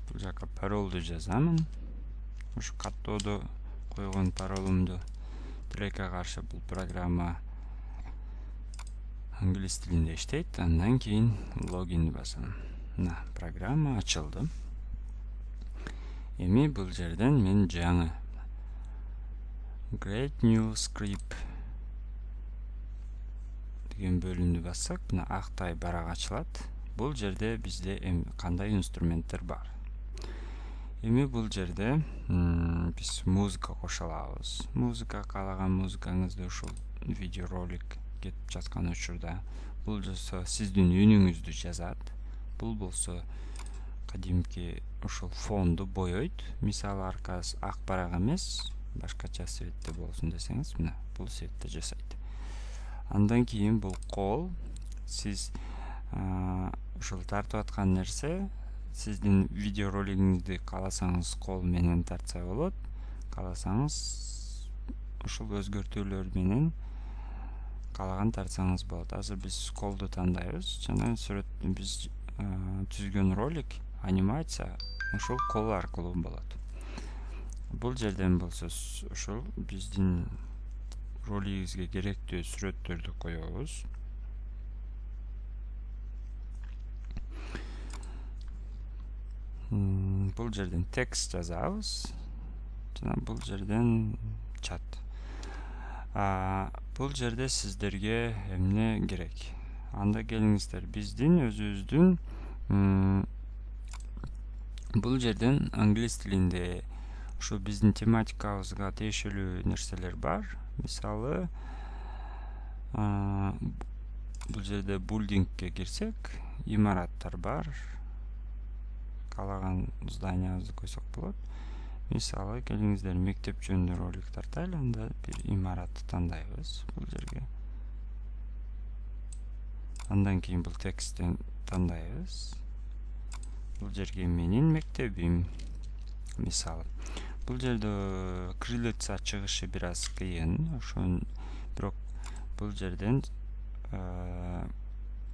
Бул жака паролду жазамын. Ушу каттоодо койгон паролумду тилекке каршы бул программа англис тилинде иштейт. Андан кийин логин басам. Мына программа ачылды. Эми бул жерден мен жаңы Great New Script деген бөлүмдү бассак, мына актай барак ачылат. Бул жерде бизде кандай инструменттер бар. Эми бул жерде биз музыка кошо алабыз. Музыка каалаган музыкаңызды ушул видеоролик кетип жаткан учурда бул болсо сиздин үнүңүздү жазат. Бул болсо кадимки ушул фонду боёйт. Мисалы аркасы ак барак эмес, башкача цветте болсун десеңиз, мына бул цветте жасайт. Андан кийин бул кол, сиз ушул тартып аткан нерсе, сиздин видеоролигиңизди кааласаңыз кол менен тартса болот, кааласаңыз ушул өзгөртүүлөр менен каалаган тартсаңыз болот. Азыр биз колду тандайбыз жана биз түзгөн ролик, анимация ушул кол аркылуу болот. Бул жерден болсо ушул биздин ролигибизге керектүү сүрөттөрдү коебуз. Бул жерден текст жазабыз. Жана бул жерден чат. Бул жерде сиздерге эмне керек? Анда келиңиздер, биздин өзүбүздүн бул жерден англис тилинде ушу биздин тематикабызга тиешелүү нерселер бар. Мисалы, бул жерде булдингке кирсек, имараттар бар. Каалаган зданиябызды койсок болот. Мисалы, келиңиздер мектеп жөнүндө ролик тартайлы, анда бир имаратты тандайбыз бул жерге. Андан кийин бул тексттен тандайбыз. Бул жерге менин мектебим. Мисалы, бул жерде кириллица чыгышы бир аз кыйын, ошон бирок бул жерден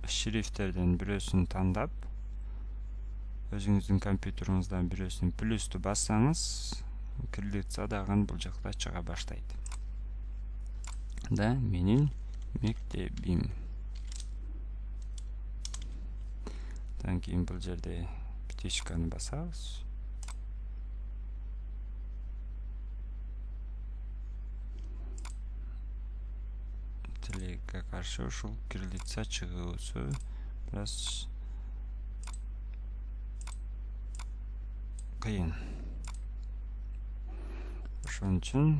шрифттерден бирөөсүн тандап, өзүңүздүн компьютериңиздан бирөөсүн плюсту бассаңыз, кириллица дагы бул жакта чыга баштайт. Да, менин мектебим. Андан кийин бул жерде птичканы басабыз. Тилекке каршы ушул кириллица чыгуусу бир аз кыйын. Ошон үчүн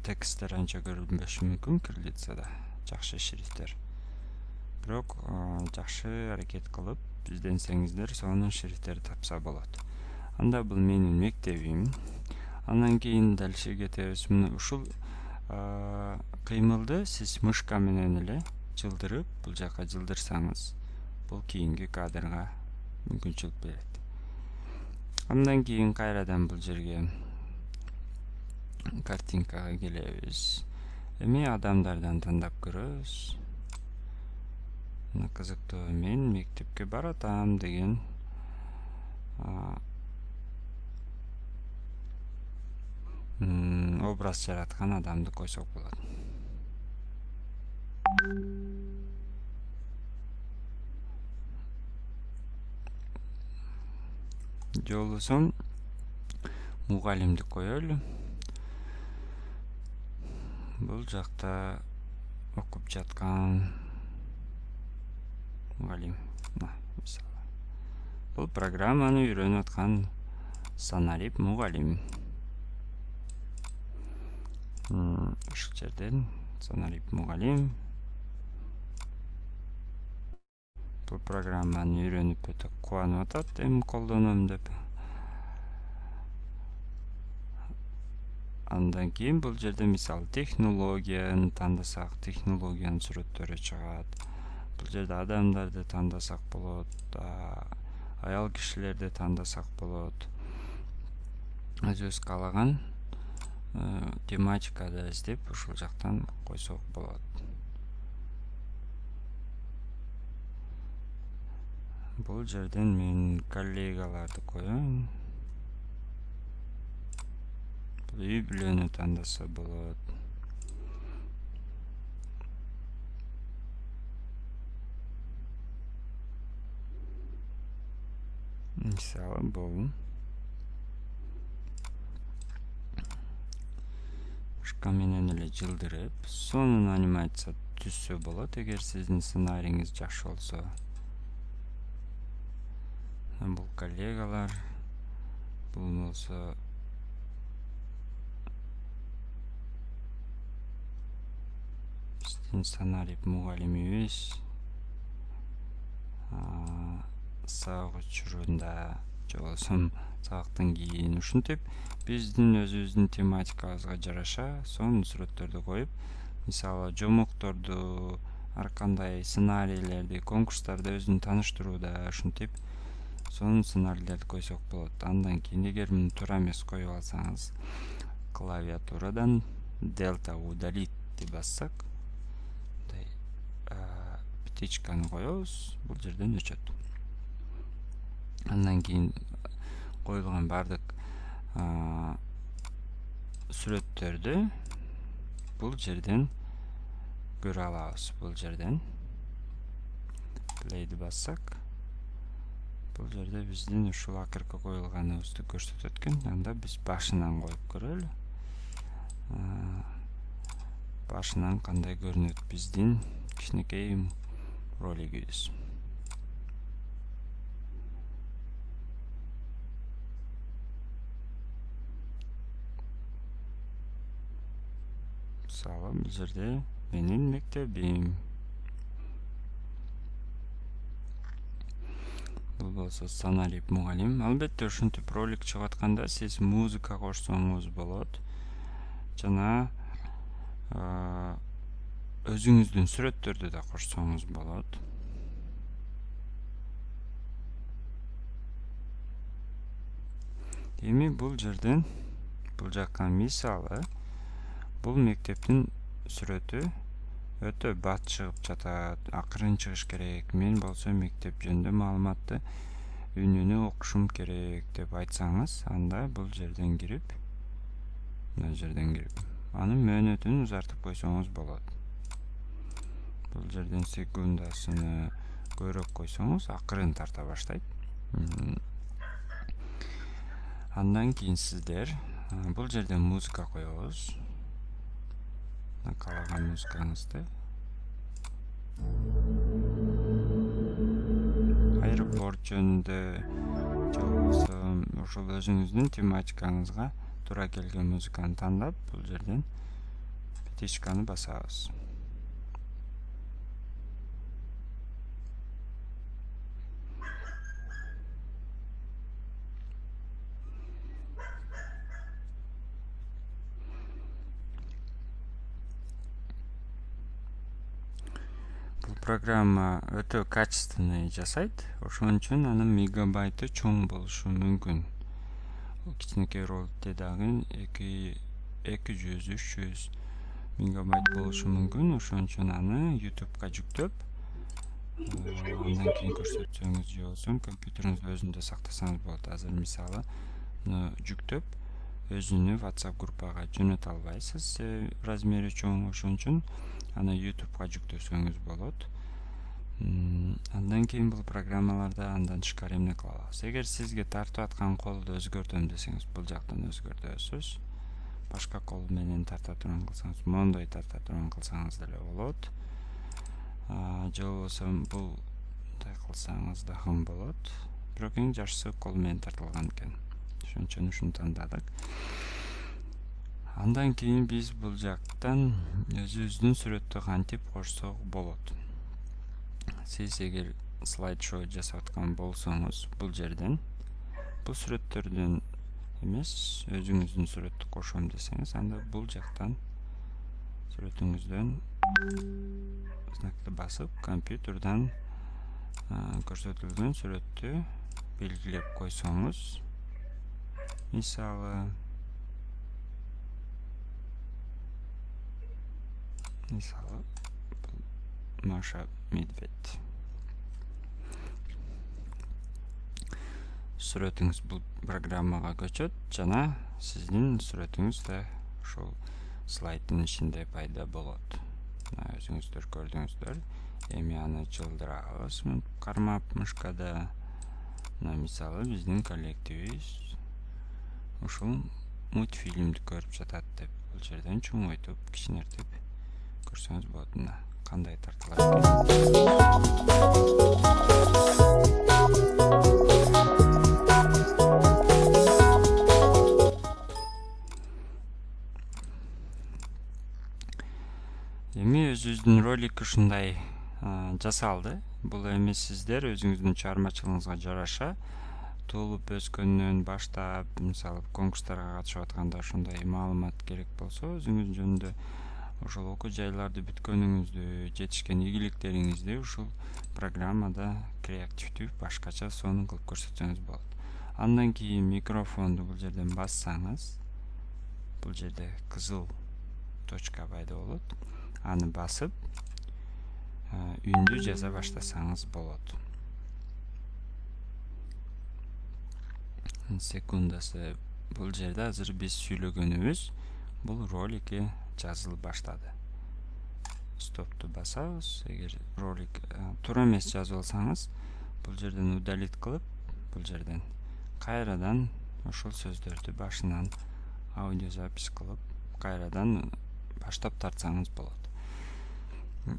тексттер анча көрүнбөшү мүмкүн кириллицада, жакшы шрифттер. Бирок жакшы аракет кылып изденсеңиздер, сонун шрифттер тапса болот. Анда бул менин мектебим. Андан кийин дальше кетебиз. Ушул кыймылды сиз мышка менен эле жылдырып, бул жака жылдырсаңыз, бул кийинки кадрга мүмкүнчүлүк берет. Андан кийин кайрадан бул жерге картинкага келебиз. Эми адамдардан тандап көрөбүз. Мына кызыктуу, мен мектепке баратам деген образ жараткан адамды койсок болот. Жолусун мугалимди коелу. Бул жакта окуп жаткан мугалим. Мисалы, бул программаны үйрөнүп аткан Санарип мугалим. Ушул жерден Санарип мугалим бул программаны үйрөнүп өтө кубанып атат, эми колдоном деп. Андан кийин бул жерде мисалы технологияны тандасак, технологиянын сүрөттөрү чыгат. Бул жерде адамдарды тандасак болот, аял кишилерди тандасак болот. Өзүбүз каалаган тематикада издеп ушул жактан койсок болот. Бул жерден мен коллегаларды коем. Бул үй бүлөнү тандаса болот. Мисалы, бул мышка менен эле жылдырып, сонун анимация түзсө болот, эгер сиздин сценарийиңиз жакшы болсо. Бул коллегалар, бул болсо биздин Санарип мугалимибиз сабак учурунда же болбосо сабактан кийин ушинтип биздин өзүбүздүн тематикабызга жараша сонун сүрөттөрдү коюп, мисалы жомокторду, ар кандай сценарийлерди, конкурстарды өзүн тааныштырууда ушинтип сонун сценарийлерди койсок болот. Андан кийин эгер муну туура эмес коюп алсаңыз, клавиатурадан Delta удалитти бассак, птичканы коебуз, бул жерден өчөт. Андан кийин коюлган бардык сүрөттөрдү бул жерден көрө алабыз. Бул жерден плейди бассак, Бул жерде биздин ушул акыркы коюлганыбызды көрсөтөт экен. Анда биз башынан коюп көрөлү. Башынан кандай көрүнөт биздин кичинекей ролигибиз. Мисалы, бул жерде менин мектебим. Бул болсо Саналип мугалим. Албетте ушинтип ролик чыгып атканда сиз музыка кошсоңуз болот. Жана өзүңүздүн сүрөттөрдү да кошсоңуз болот. Эми бул жерден бул жакка мисалы бул мектептин сүрөтү өтө бат чыгып жатат, акырын чыгыш керек. Мен болсо мектеп жөнүндө маалыматты үнүнө окушум керек деп айтсаңыз, анда бул жерден кирип, анын мөөнөтүн узартып койсоңуз болот. Бул жерден секундасыны көбүрөөк койсоңуз, акырын тарта баштайт. Андан кийин сиздер бул жерден музыка коебуз. Каалаган музыкаңызды. Аэропорт жөнүндө же болбосо ошол өзүңүздүн тематикаңызга туура келген музыканы тандап, бул жерден петичканы басабыз. Программа өтө качественный жасайт. Ошон үчүн анын мегабайты чоң болушу мүмкүн. Кичинекей роликте дагы 200-300 мегабайт болушу мүмкүн. Ошон үчүн аны YouTube'га жүктөп, андан кийин көрсөтсөңүз же болбосо компьютериңиздин өзүндө сактасаңыз болот. Азыр мисалы жүктөп, өзүнү WhatsApp группага жөнөтө албайсыз, размери чоң. Ошон үчүн аны YouTube'га жүктөсөңүз болот. Андан кийин бул программаларда андан тышкары эмне кыла алабыз? Эгер сизге тартып аткан колду өзгөртөм десеңиз, бул жактан өзгөртөсүз. Башка кол менен тарта турган кылсаңыз, мондой тарта турган кылсаңыз деле болот. Же болбосо булдай кылсаңыз дагы болот. Бирок эң жакшысы кол менен тартылган экен. Ошон үчүн ушуну тандадык. Андан кийин биз бул жактан өзүбүздүн сүрөттү кантип кошсок болот. Сиз эгер слайд-шоу жасап аткан болсоңуз, бул жерден бул сүрөттөрдөн эмес, өзүңүздүн сүрөттү кошом десеңиз, анда бул жактан сүрөтүңүздөн знакты басып, компьютерден көрсөтүлгөн сүрөттү белгилеп койсоңуз, мисалы Маша Медведь. Сүрөтүңүз бул программага көчөт жана сиздин сүрөтүңүз да ошол слайддын ичинде пайда болот. Өзүңүздөр көрдүңүздөр. Эми аны жылдырабыз кармап мышкада. Мисалы биздин коллективибиз ушул мультфильмди көрүп жатат деп бул жерден чоңойтуп, кичинертип көрсөңүз болот. Кандай тартылат экен. Эми өзүбүздүн ролик ушундай жасалды. Бул эми сиздер өзүңүздүн чыгармачылыгыңызга жараша толуп өскөндөн баштап, мисалы конкурстарга катышып атканда ошондой маалымат керек болсо, өзүңүз жөнүндө ошол окуу жайларды бүткөнүңүздү, жетишкен ийгиликтериңизди ушул программада креативдүү башкача сонун кылып көрсөтсөңүз болот. Андан кийин микрофонду бул жерден бассаңыз, бул жерде кызыл точка пайда болот. Аны басып, үндү жаза баштасаңыз болот. Секундасы бул жерде азыр биз сүйлөгөнүбүз бул роликке жазылып баштады. Стопту басабыз. Эгер ролик туура эмес жазып алсаңыз, бул жерден удалить кылып, бул жерден кайрадан ошол сөздөрдү башынан аудио запись кылып кайрадан баштап тартсаңыз болот.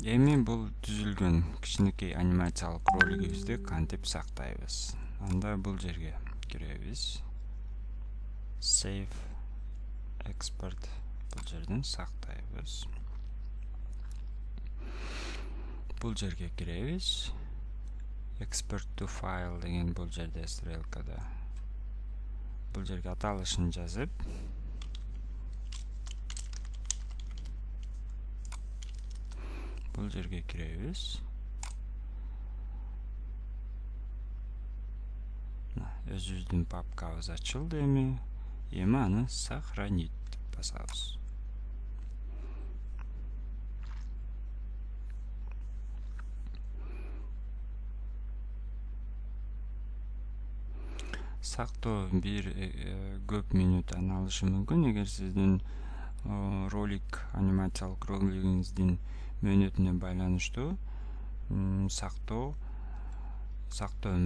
Эми бул түзүлгөн кичинекей анимациялык ролигибизди кантип сактайбыз? Анда бул жерге киребиз. Save export бул жерден сактайбыз. Бул жерге киребиз. Export to file деген бул жерде стрелкада. Бул жерге аталышын жазып, бул жерге киребиз. Өзүбүздүн папкабыз ачылды эми. Эми аны сохранить деп басабыз. Сактоо бир көп мүнөттөн алышы мүмкүн. Эгер сиздин ролик, анимациялык ролигиңиздин мөөнөтүнө байланыштуу сактоо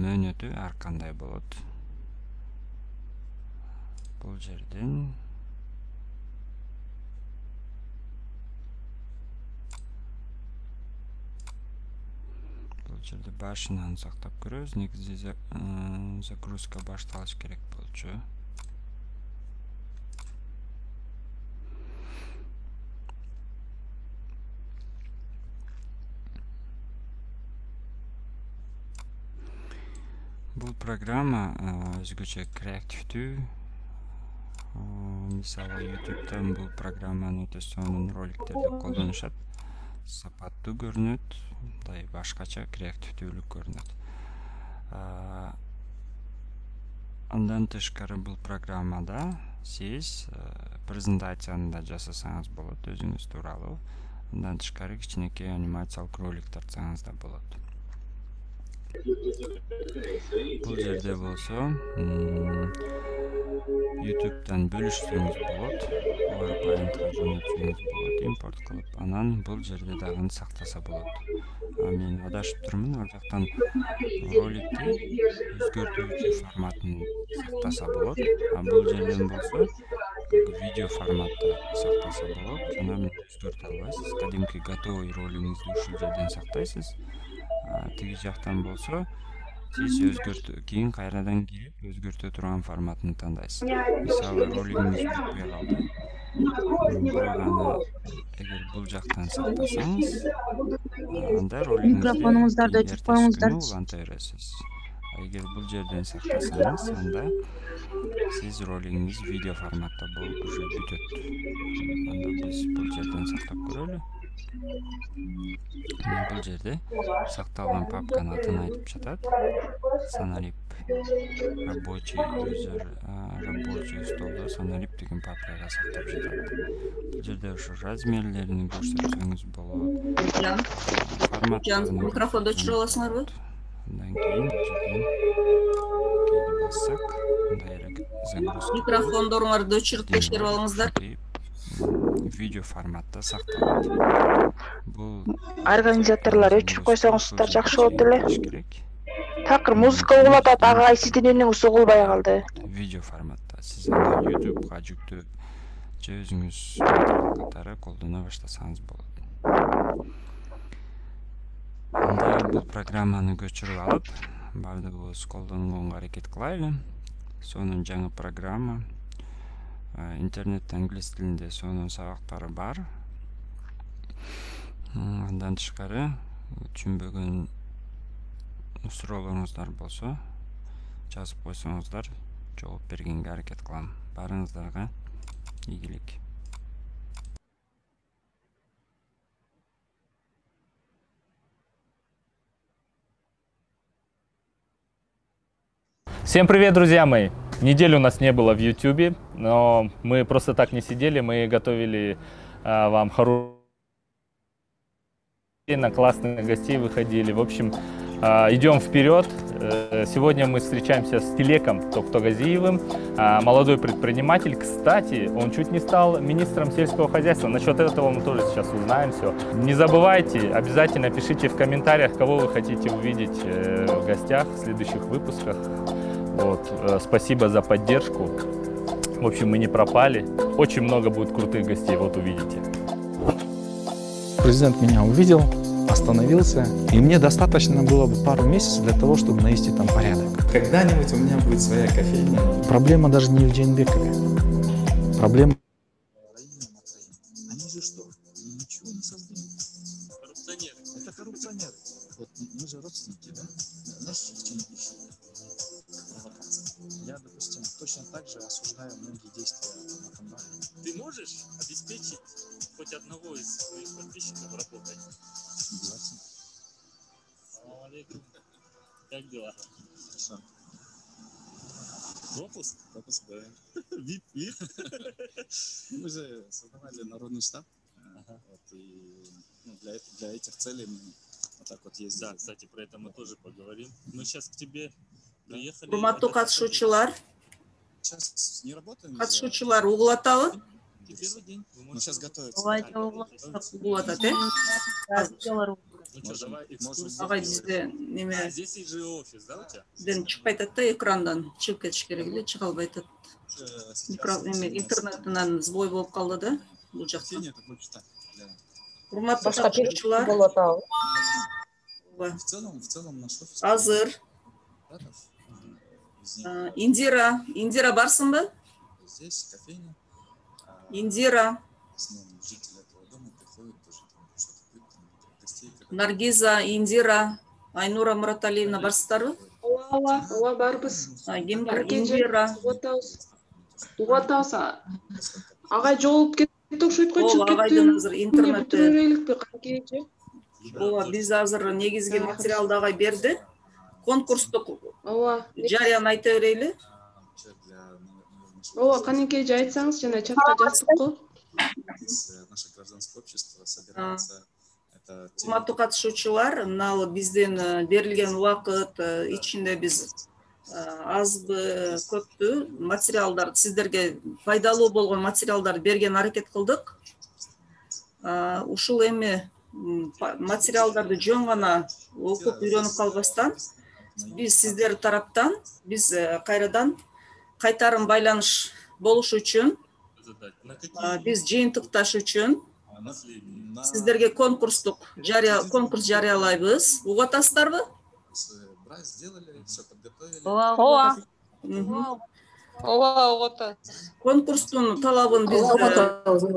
мөөнөтү ар кандай болот. Бул жерден башынан сактап көрөбүз. Негизи загрузка башталыш керек болчу. Бул программа өзгөчө креативдүү. Мисалы YouTube'дан бул программаны өтө сонун роликтерде колдонушат. Сапаттуу көрүнөт, мындай башкача креативдүүлүк көрүнөт. Андан тышкары бул программада сиз презентацияны да жасасаңыз болот өзүңүз тууралуу. Андан тышкары кичинекей анимациялык ролик тартсаңыз да болот. Бул жерде болсо YouTube'дан бөлүшсөңүз болот, PowerPoint-ка жөнөтсөңүз болот, импорт кылып, анан бул жерде дагы сактаса болот. Мен адашып турмун, ал жактан роликти өзгөртүүчү форматын сактаса болот. Бул жерден болсо видео форматта сактаса болот. Жана мен өзгөртө албайсыз. Кадимки готовый ролигиңизди ушул жерден сактайсыз. Тиги жактан болсо сиз кийин кайрадан кирип өзгөртө турган форматын тандайсыз. Мисалы ролигиңиз бүтпөй калды. Бирок аны эгер бул жактан сактасаңыз, анда микрофонуңуздарды өчүрүп коюңуздар. Уланта бересиз. Эгер бул жерден сактасаңыз, анда сиз ролигиңиз видео форматта болуп уже бүтөт. Анда биз бул жерден сактап көрөлү. Бул жерде сакталган папканын атын айтып жатат. Санарип рабочий user, рабочий столдо санарип деген папкага сактап жатат. Бул жерде ушу размерлерин көрсөтсөңүз болот. Форматтарын микрофонду өчүрүп аласыңарбы? Андан кийин бул жерден кээде бассак, мындай загрузка. Микрофондоруңарды өчүрүп текшерип алыңыздар. Видео форматта сакталат. Бул Организаторлор өчүрүп койсоңуздар жакшы болот эле. Такыр музыка угулуп атат, ага сиздин үнүңүз угулбай калды. Видео форматта сиз аны YouTube'га жүктөп, же өзүңүз материал катары колдоно баштасаңыз болот. Анда бул программаны көчүрүп алып, баардыгыбыз колдонгонго аракет кылайлы. Сонун жаңы программа. Интернетте англис тилинде сонун сабактары бар. Андан тышкары түшүнбөгөн суроолоруңуздар болсо жазып койсоңуздар, жооп бергенге аракет кылам. Баарыңыздарга ийгилик. Всем привет, друзья мои! Недели у нас не было в YouTube, но мы просто так не сидели, мы готовили вам хорошие, на классных гостей выходили. В общем, идем вперед. Сегодня мы встречаемся с Тилеком Токтогазиевым, молодой предприниматель. Кстати, он чуть не стал министром сельского хозяйства. Насчет этого мы тоже сейчас узнаем все. Не забывайте, обязательно пишите в комментариях, кого вы хотите увидеть в гостях в следующих выпусках. Вот, спасибо за поддержку. В общем, мы не пропали. Очень много будет крутых гостей, вот увидите. Президент меня увидел, остановился, и мне достаточно было бы пару месяцев для того, чтобы навести там порядок. Когда-нибудь у меня будет своя кофейня. Проблема даже не в Джейнбекове. Проблема... Они же что? Ничего не создали. Коррупционеры. Это коррупционеры. Вот мы же родственники, да? Знаешь, в чем пишут? Провокация. Я, допустим, точно так же осуждаю многие действия Атамбаева. Ты можешь обеспечить хоть одного из своих подписчиков работать? Согласен. Салам алейкум. Как дела? Хорошо. Пропуск? Пропуск, да. Вип. Мы же создавали народный штаб. Вот, и для этих целей мы вот так вот ездили. Да, кстати, про это мы тоже поговорим. Мы сейчас к тебе приехали. Урматтуу катышуучулар, Сейчас не работаем. катышуучулар угул атабы? Первый день. Мы сейчас готовимся. Угул атат, э? Ну что, давай экскурсию. Агай бизде неме Здесь же офис, да, у тебя? ден чыкпай атат да, экрандан чыгып кетиш керек эле, чыга албай атат. Интернетинен сбой болуп калды да, бул жакта. Урматтуу катышуучулар, В целом наш офис. азыр Индира барсыңбы? Здесь кофейня. Индира, Жители этого дома приходят тоже что-то пьют, гостей. Наргиза, Индира, Айнура Мураталиевна барсыздарбы? Ооба барбыз. Ким бар? Индира. Угуп атабыз. Агай жоголуп кетти окшойт го, чыгып кетти. Агайдын азыр интернетте. Бүтүрөйлүкпү канкечи. Ооба, биз азыр негизги материалды агай берди. Конкурстук жарыяны айта берели. Ооба, канекеже айтсаңыз, жана чатка жаздык го. Наше гражданское общество собирается. Урматтуу катышуучулар, мына биздин берилген убакыт ичинде биз азбы көппү материалдар, сиздерге пайдалуу болгон материалдар берген аракет кылдык. Ушул эми материалдарды жөн гана окуп үйрөнүп калбастан, биз сиздер тараптан биз кайрадан кайтарым байланыш болуш үчүн, биз жыйынтыкташ үчүн сиздерге конкурс жарыялайбыз. Угуп атасыздарбы? Ооба, угуп атат. Конкурстун талабын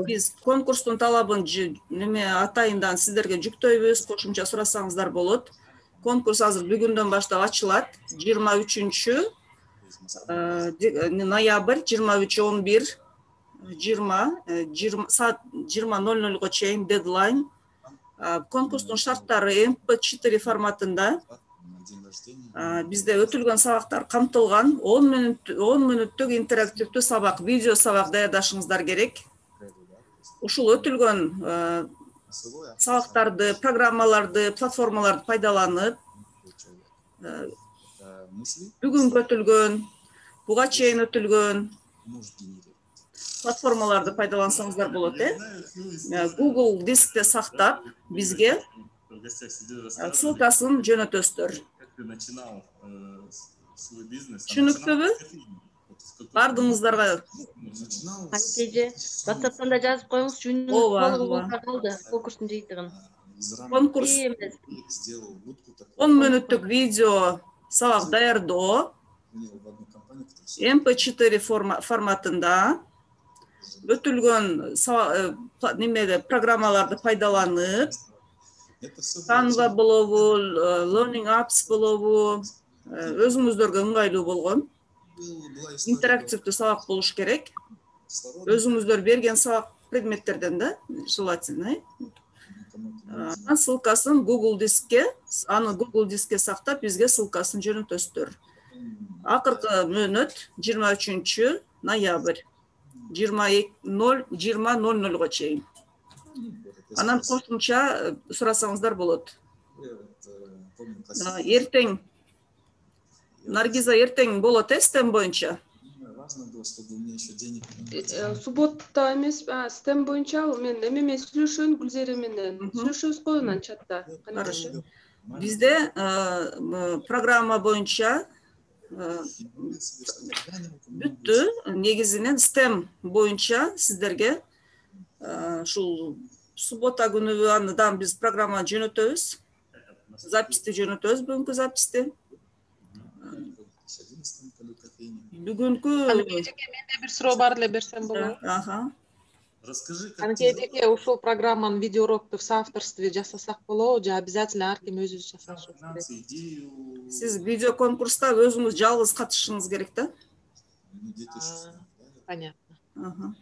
биз конкурстун талабын неме атайындан сиздерге жүктөйбүз, кошумча сурасаңыздар болот. Конкурс азыр бүгүндөн баштап ачылат. 23 ноябрь 23:11 саат 20:00 чейин дедлайн. Конкурстун шарттары MP4 форматында. Бизде өтүлгөн сабактар камтылган. 10 мүнөттүк интерактивдүү сабак, видео сабак даярдашыңыздар керек. Ушул өтүлгөн сабактарды, программаларды, платформаларды пайдаланып, бүгүн өтүлгөн, буга чейин өтүлгөн платформаларды пайдалансаңыздар болот, Google дискте сактап, бизге ссылкасын жөнөтөсүздөр. Түшүнүктүүбү? Бардыңыздарга. Канкеже, WhatsApp'tan да жазып коюңуз, жөнүнүз калды, конкурстун жыйынтыгын. Конкурс 10 мүнөттүк видео сабак даярдоо MP4 форматында өтүлгөн немеде программаларды пайдаланып, Canva болобу, Learning Apps болобу, өзүңүздөргө ыңгайлуу болгон интерактивдүү сабак болуш керек. Өзүңүздөр берген сабак предметтерден да, желательно. Ссылкасын Google дискке, аны Google дискке сактап, бизге ссылкасын жөнөтөсүздөр. Акыркы мөөнөт 23 ноябрь 20:00 чейин. Анан кошумча сурасаңыздар болот. Эртең Наргиза эртең болот стем боюнча. Суббота эмес, стем боюнча мен эме сүйлөшөн Гүлзере менен сүйлөшөбүз го анан чатта. Бизде программа боюнча бүттү. Негизинен STEM боюнча сиздерге ушул суббота күнү аны дагы биз программа жөнөтөбүз. Записти жөнөтөбүз, бүгүнкү записти. Бүгүнкү менде бир суроо бар эле, берсем болобу? Расскажи, как Анткени эжеке ушул программанын видео урокту в соавторстве жасасак болобу же обязательно ар ким өзүбүз жасашыбыз керек? Сиз видео конкурста өзүңүз жалгыз катышышыңыз керек да. Понятно.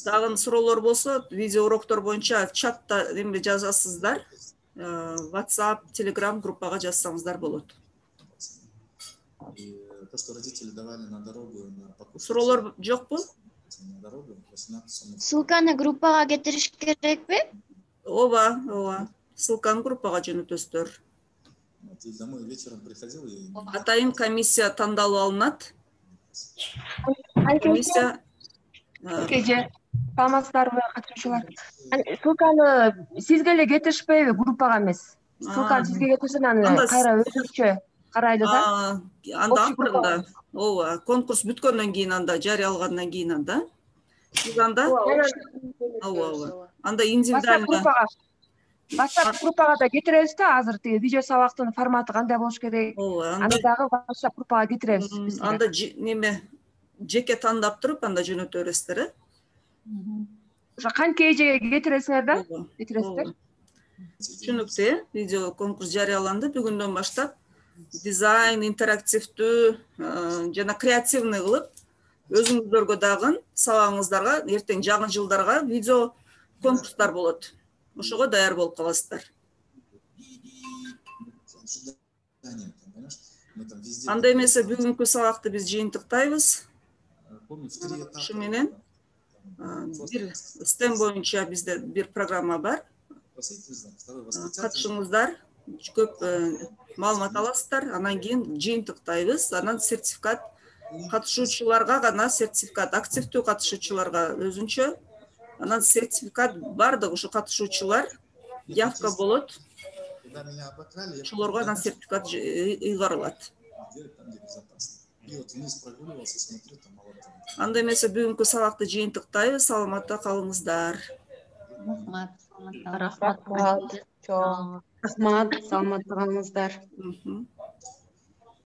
Дагы суроолор болсо, видео уроктор боюнча чатта эме жазасыздар. WhatsApp, Telegram группага жазсаңыздар болот. То, что родители давали на дорогу, на покупку. Суроолор жокпу? На дорогу 18 сомов. Ссылканы группага кетириш керекпи? Ооба. Ссылканы группага жөнөтөсүздөр. И домой вечером приходил и... Атайын комиссия тандалып алынат. Комиссия... Саламатсыздарбы, катышуучулар? Ссылканы сизге эле кетиришпейби, группага эмес? Ссылканы сизге кетирсен, аны кайра өзүбүзчө карайлы да. Анда акырында, ооба, конкурс бүткөндөн кийин анда жарыялагандан кийин анда. Биз анда ооба. Анда индивидуально WhatsApp группага да кетиребиз да, азыр тиги видео сабактын форматы кандай болуш керек? Аны дагы WhatsApp группага кетиребиз. Анда неме жеке тандап туруп анда жөнөтө бересиздер, э? Ошо канча эжеге кетиресиңер да? Кетиресиздер. Түшүнүктүү, видео конкурс жарыяланды. Бүгүндөн баштап дизайн, интерактивдүү жана креативный кылып, өзүңүздөргө дагы сабагыңыздарга, эртең жаңы жылдарга видео конкурстар болот. Ошого даяр болуп каласыздар. Анда эмесе бүгүнкү сабакты биз жыйынтыктайбыз. Ушу менен бир STEM боюнча бизде бир программа бар. Катышыңыздар, көп маалымат аласыздар, анан кийин жыйынтыктайбыз, анан сертификат катышуучуларга гана сертификат, активдүү катышуучуларга өзүнчө, анан сертификат бардык ушу катышуучулар явка болот. Ошолорго анан сертификат ыйгарылат. Анда эмесе бүгүнкү сабакты жыйынтыктайбыз, саламатта калыңыздар. Рахмат, саламатта калыңыздар.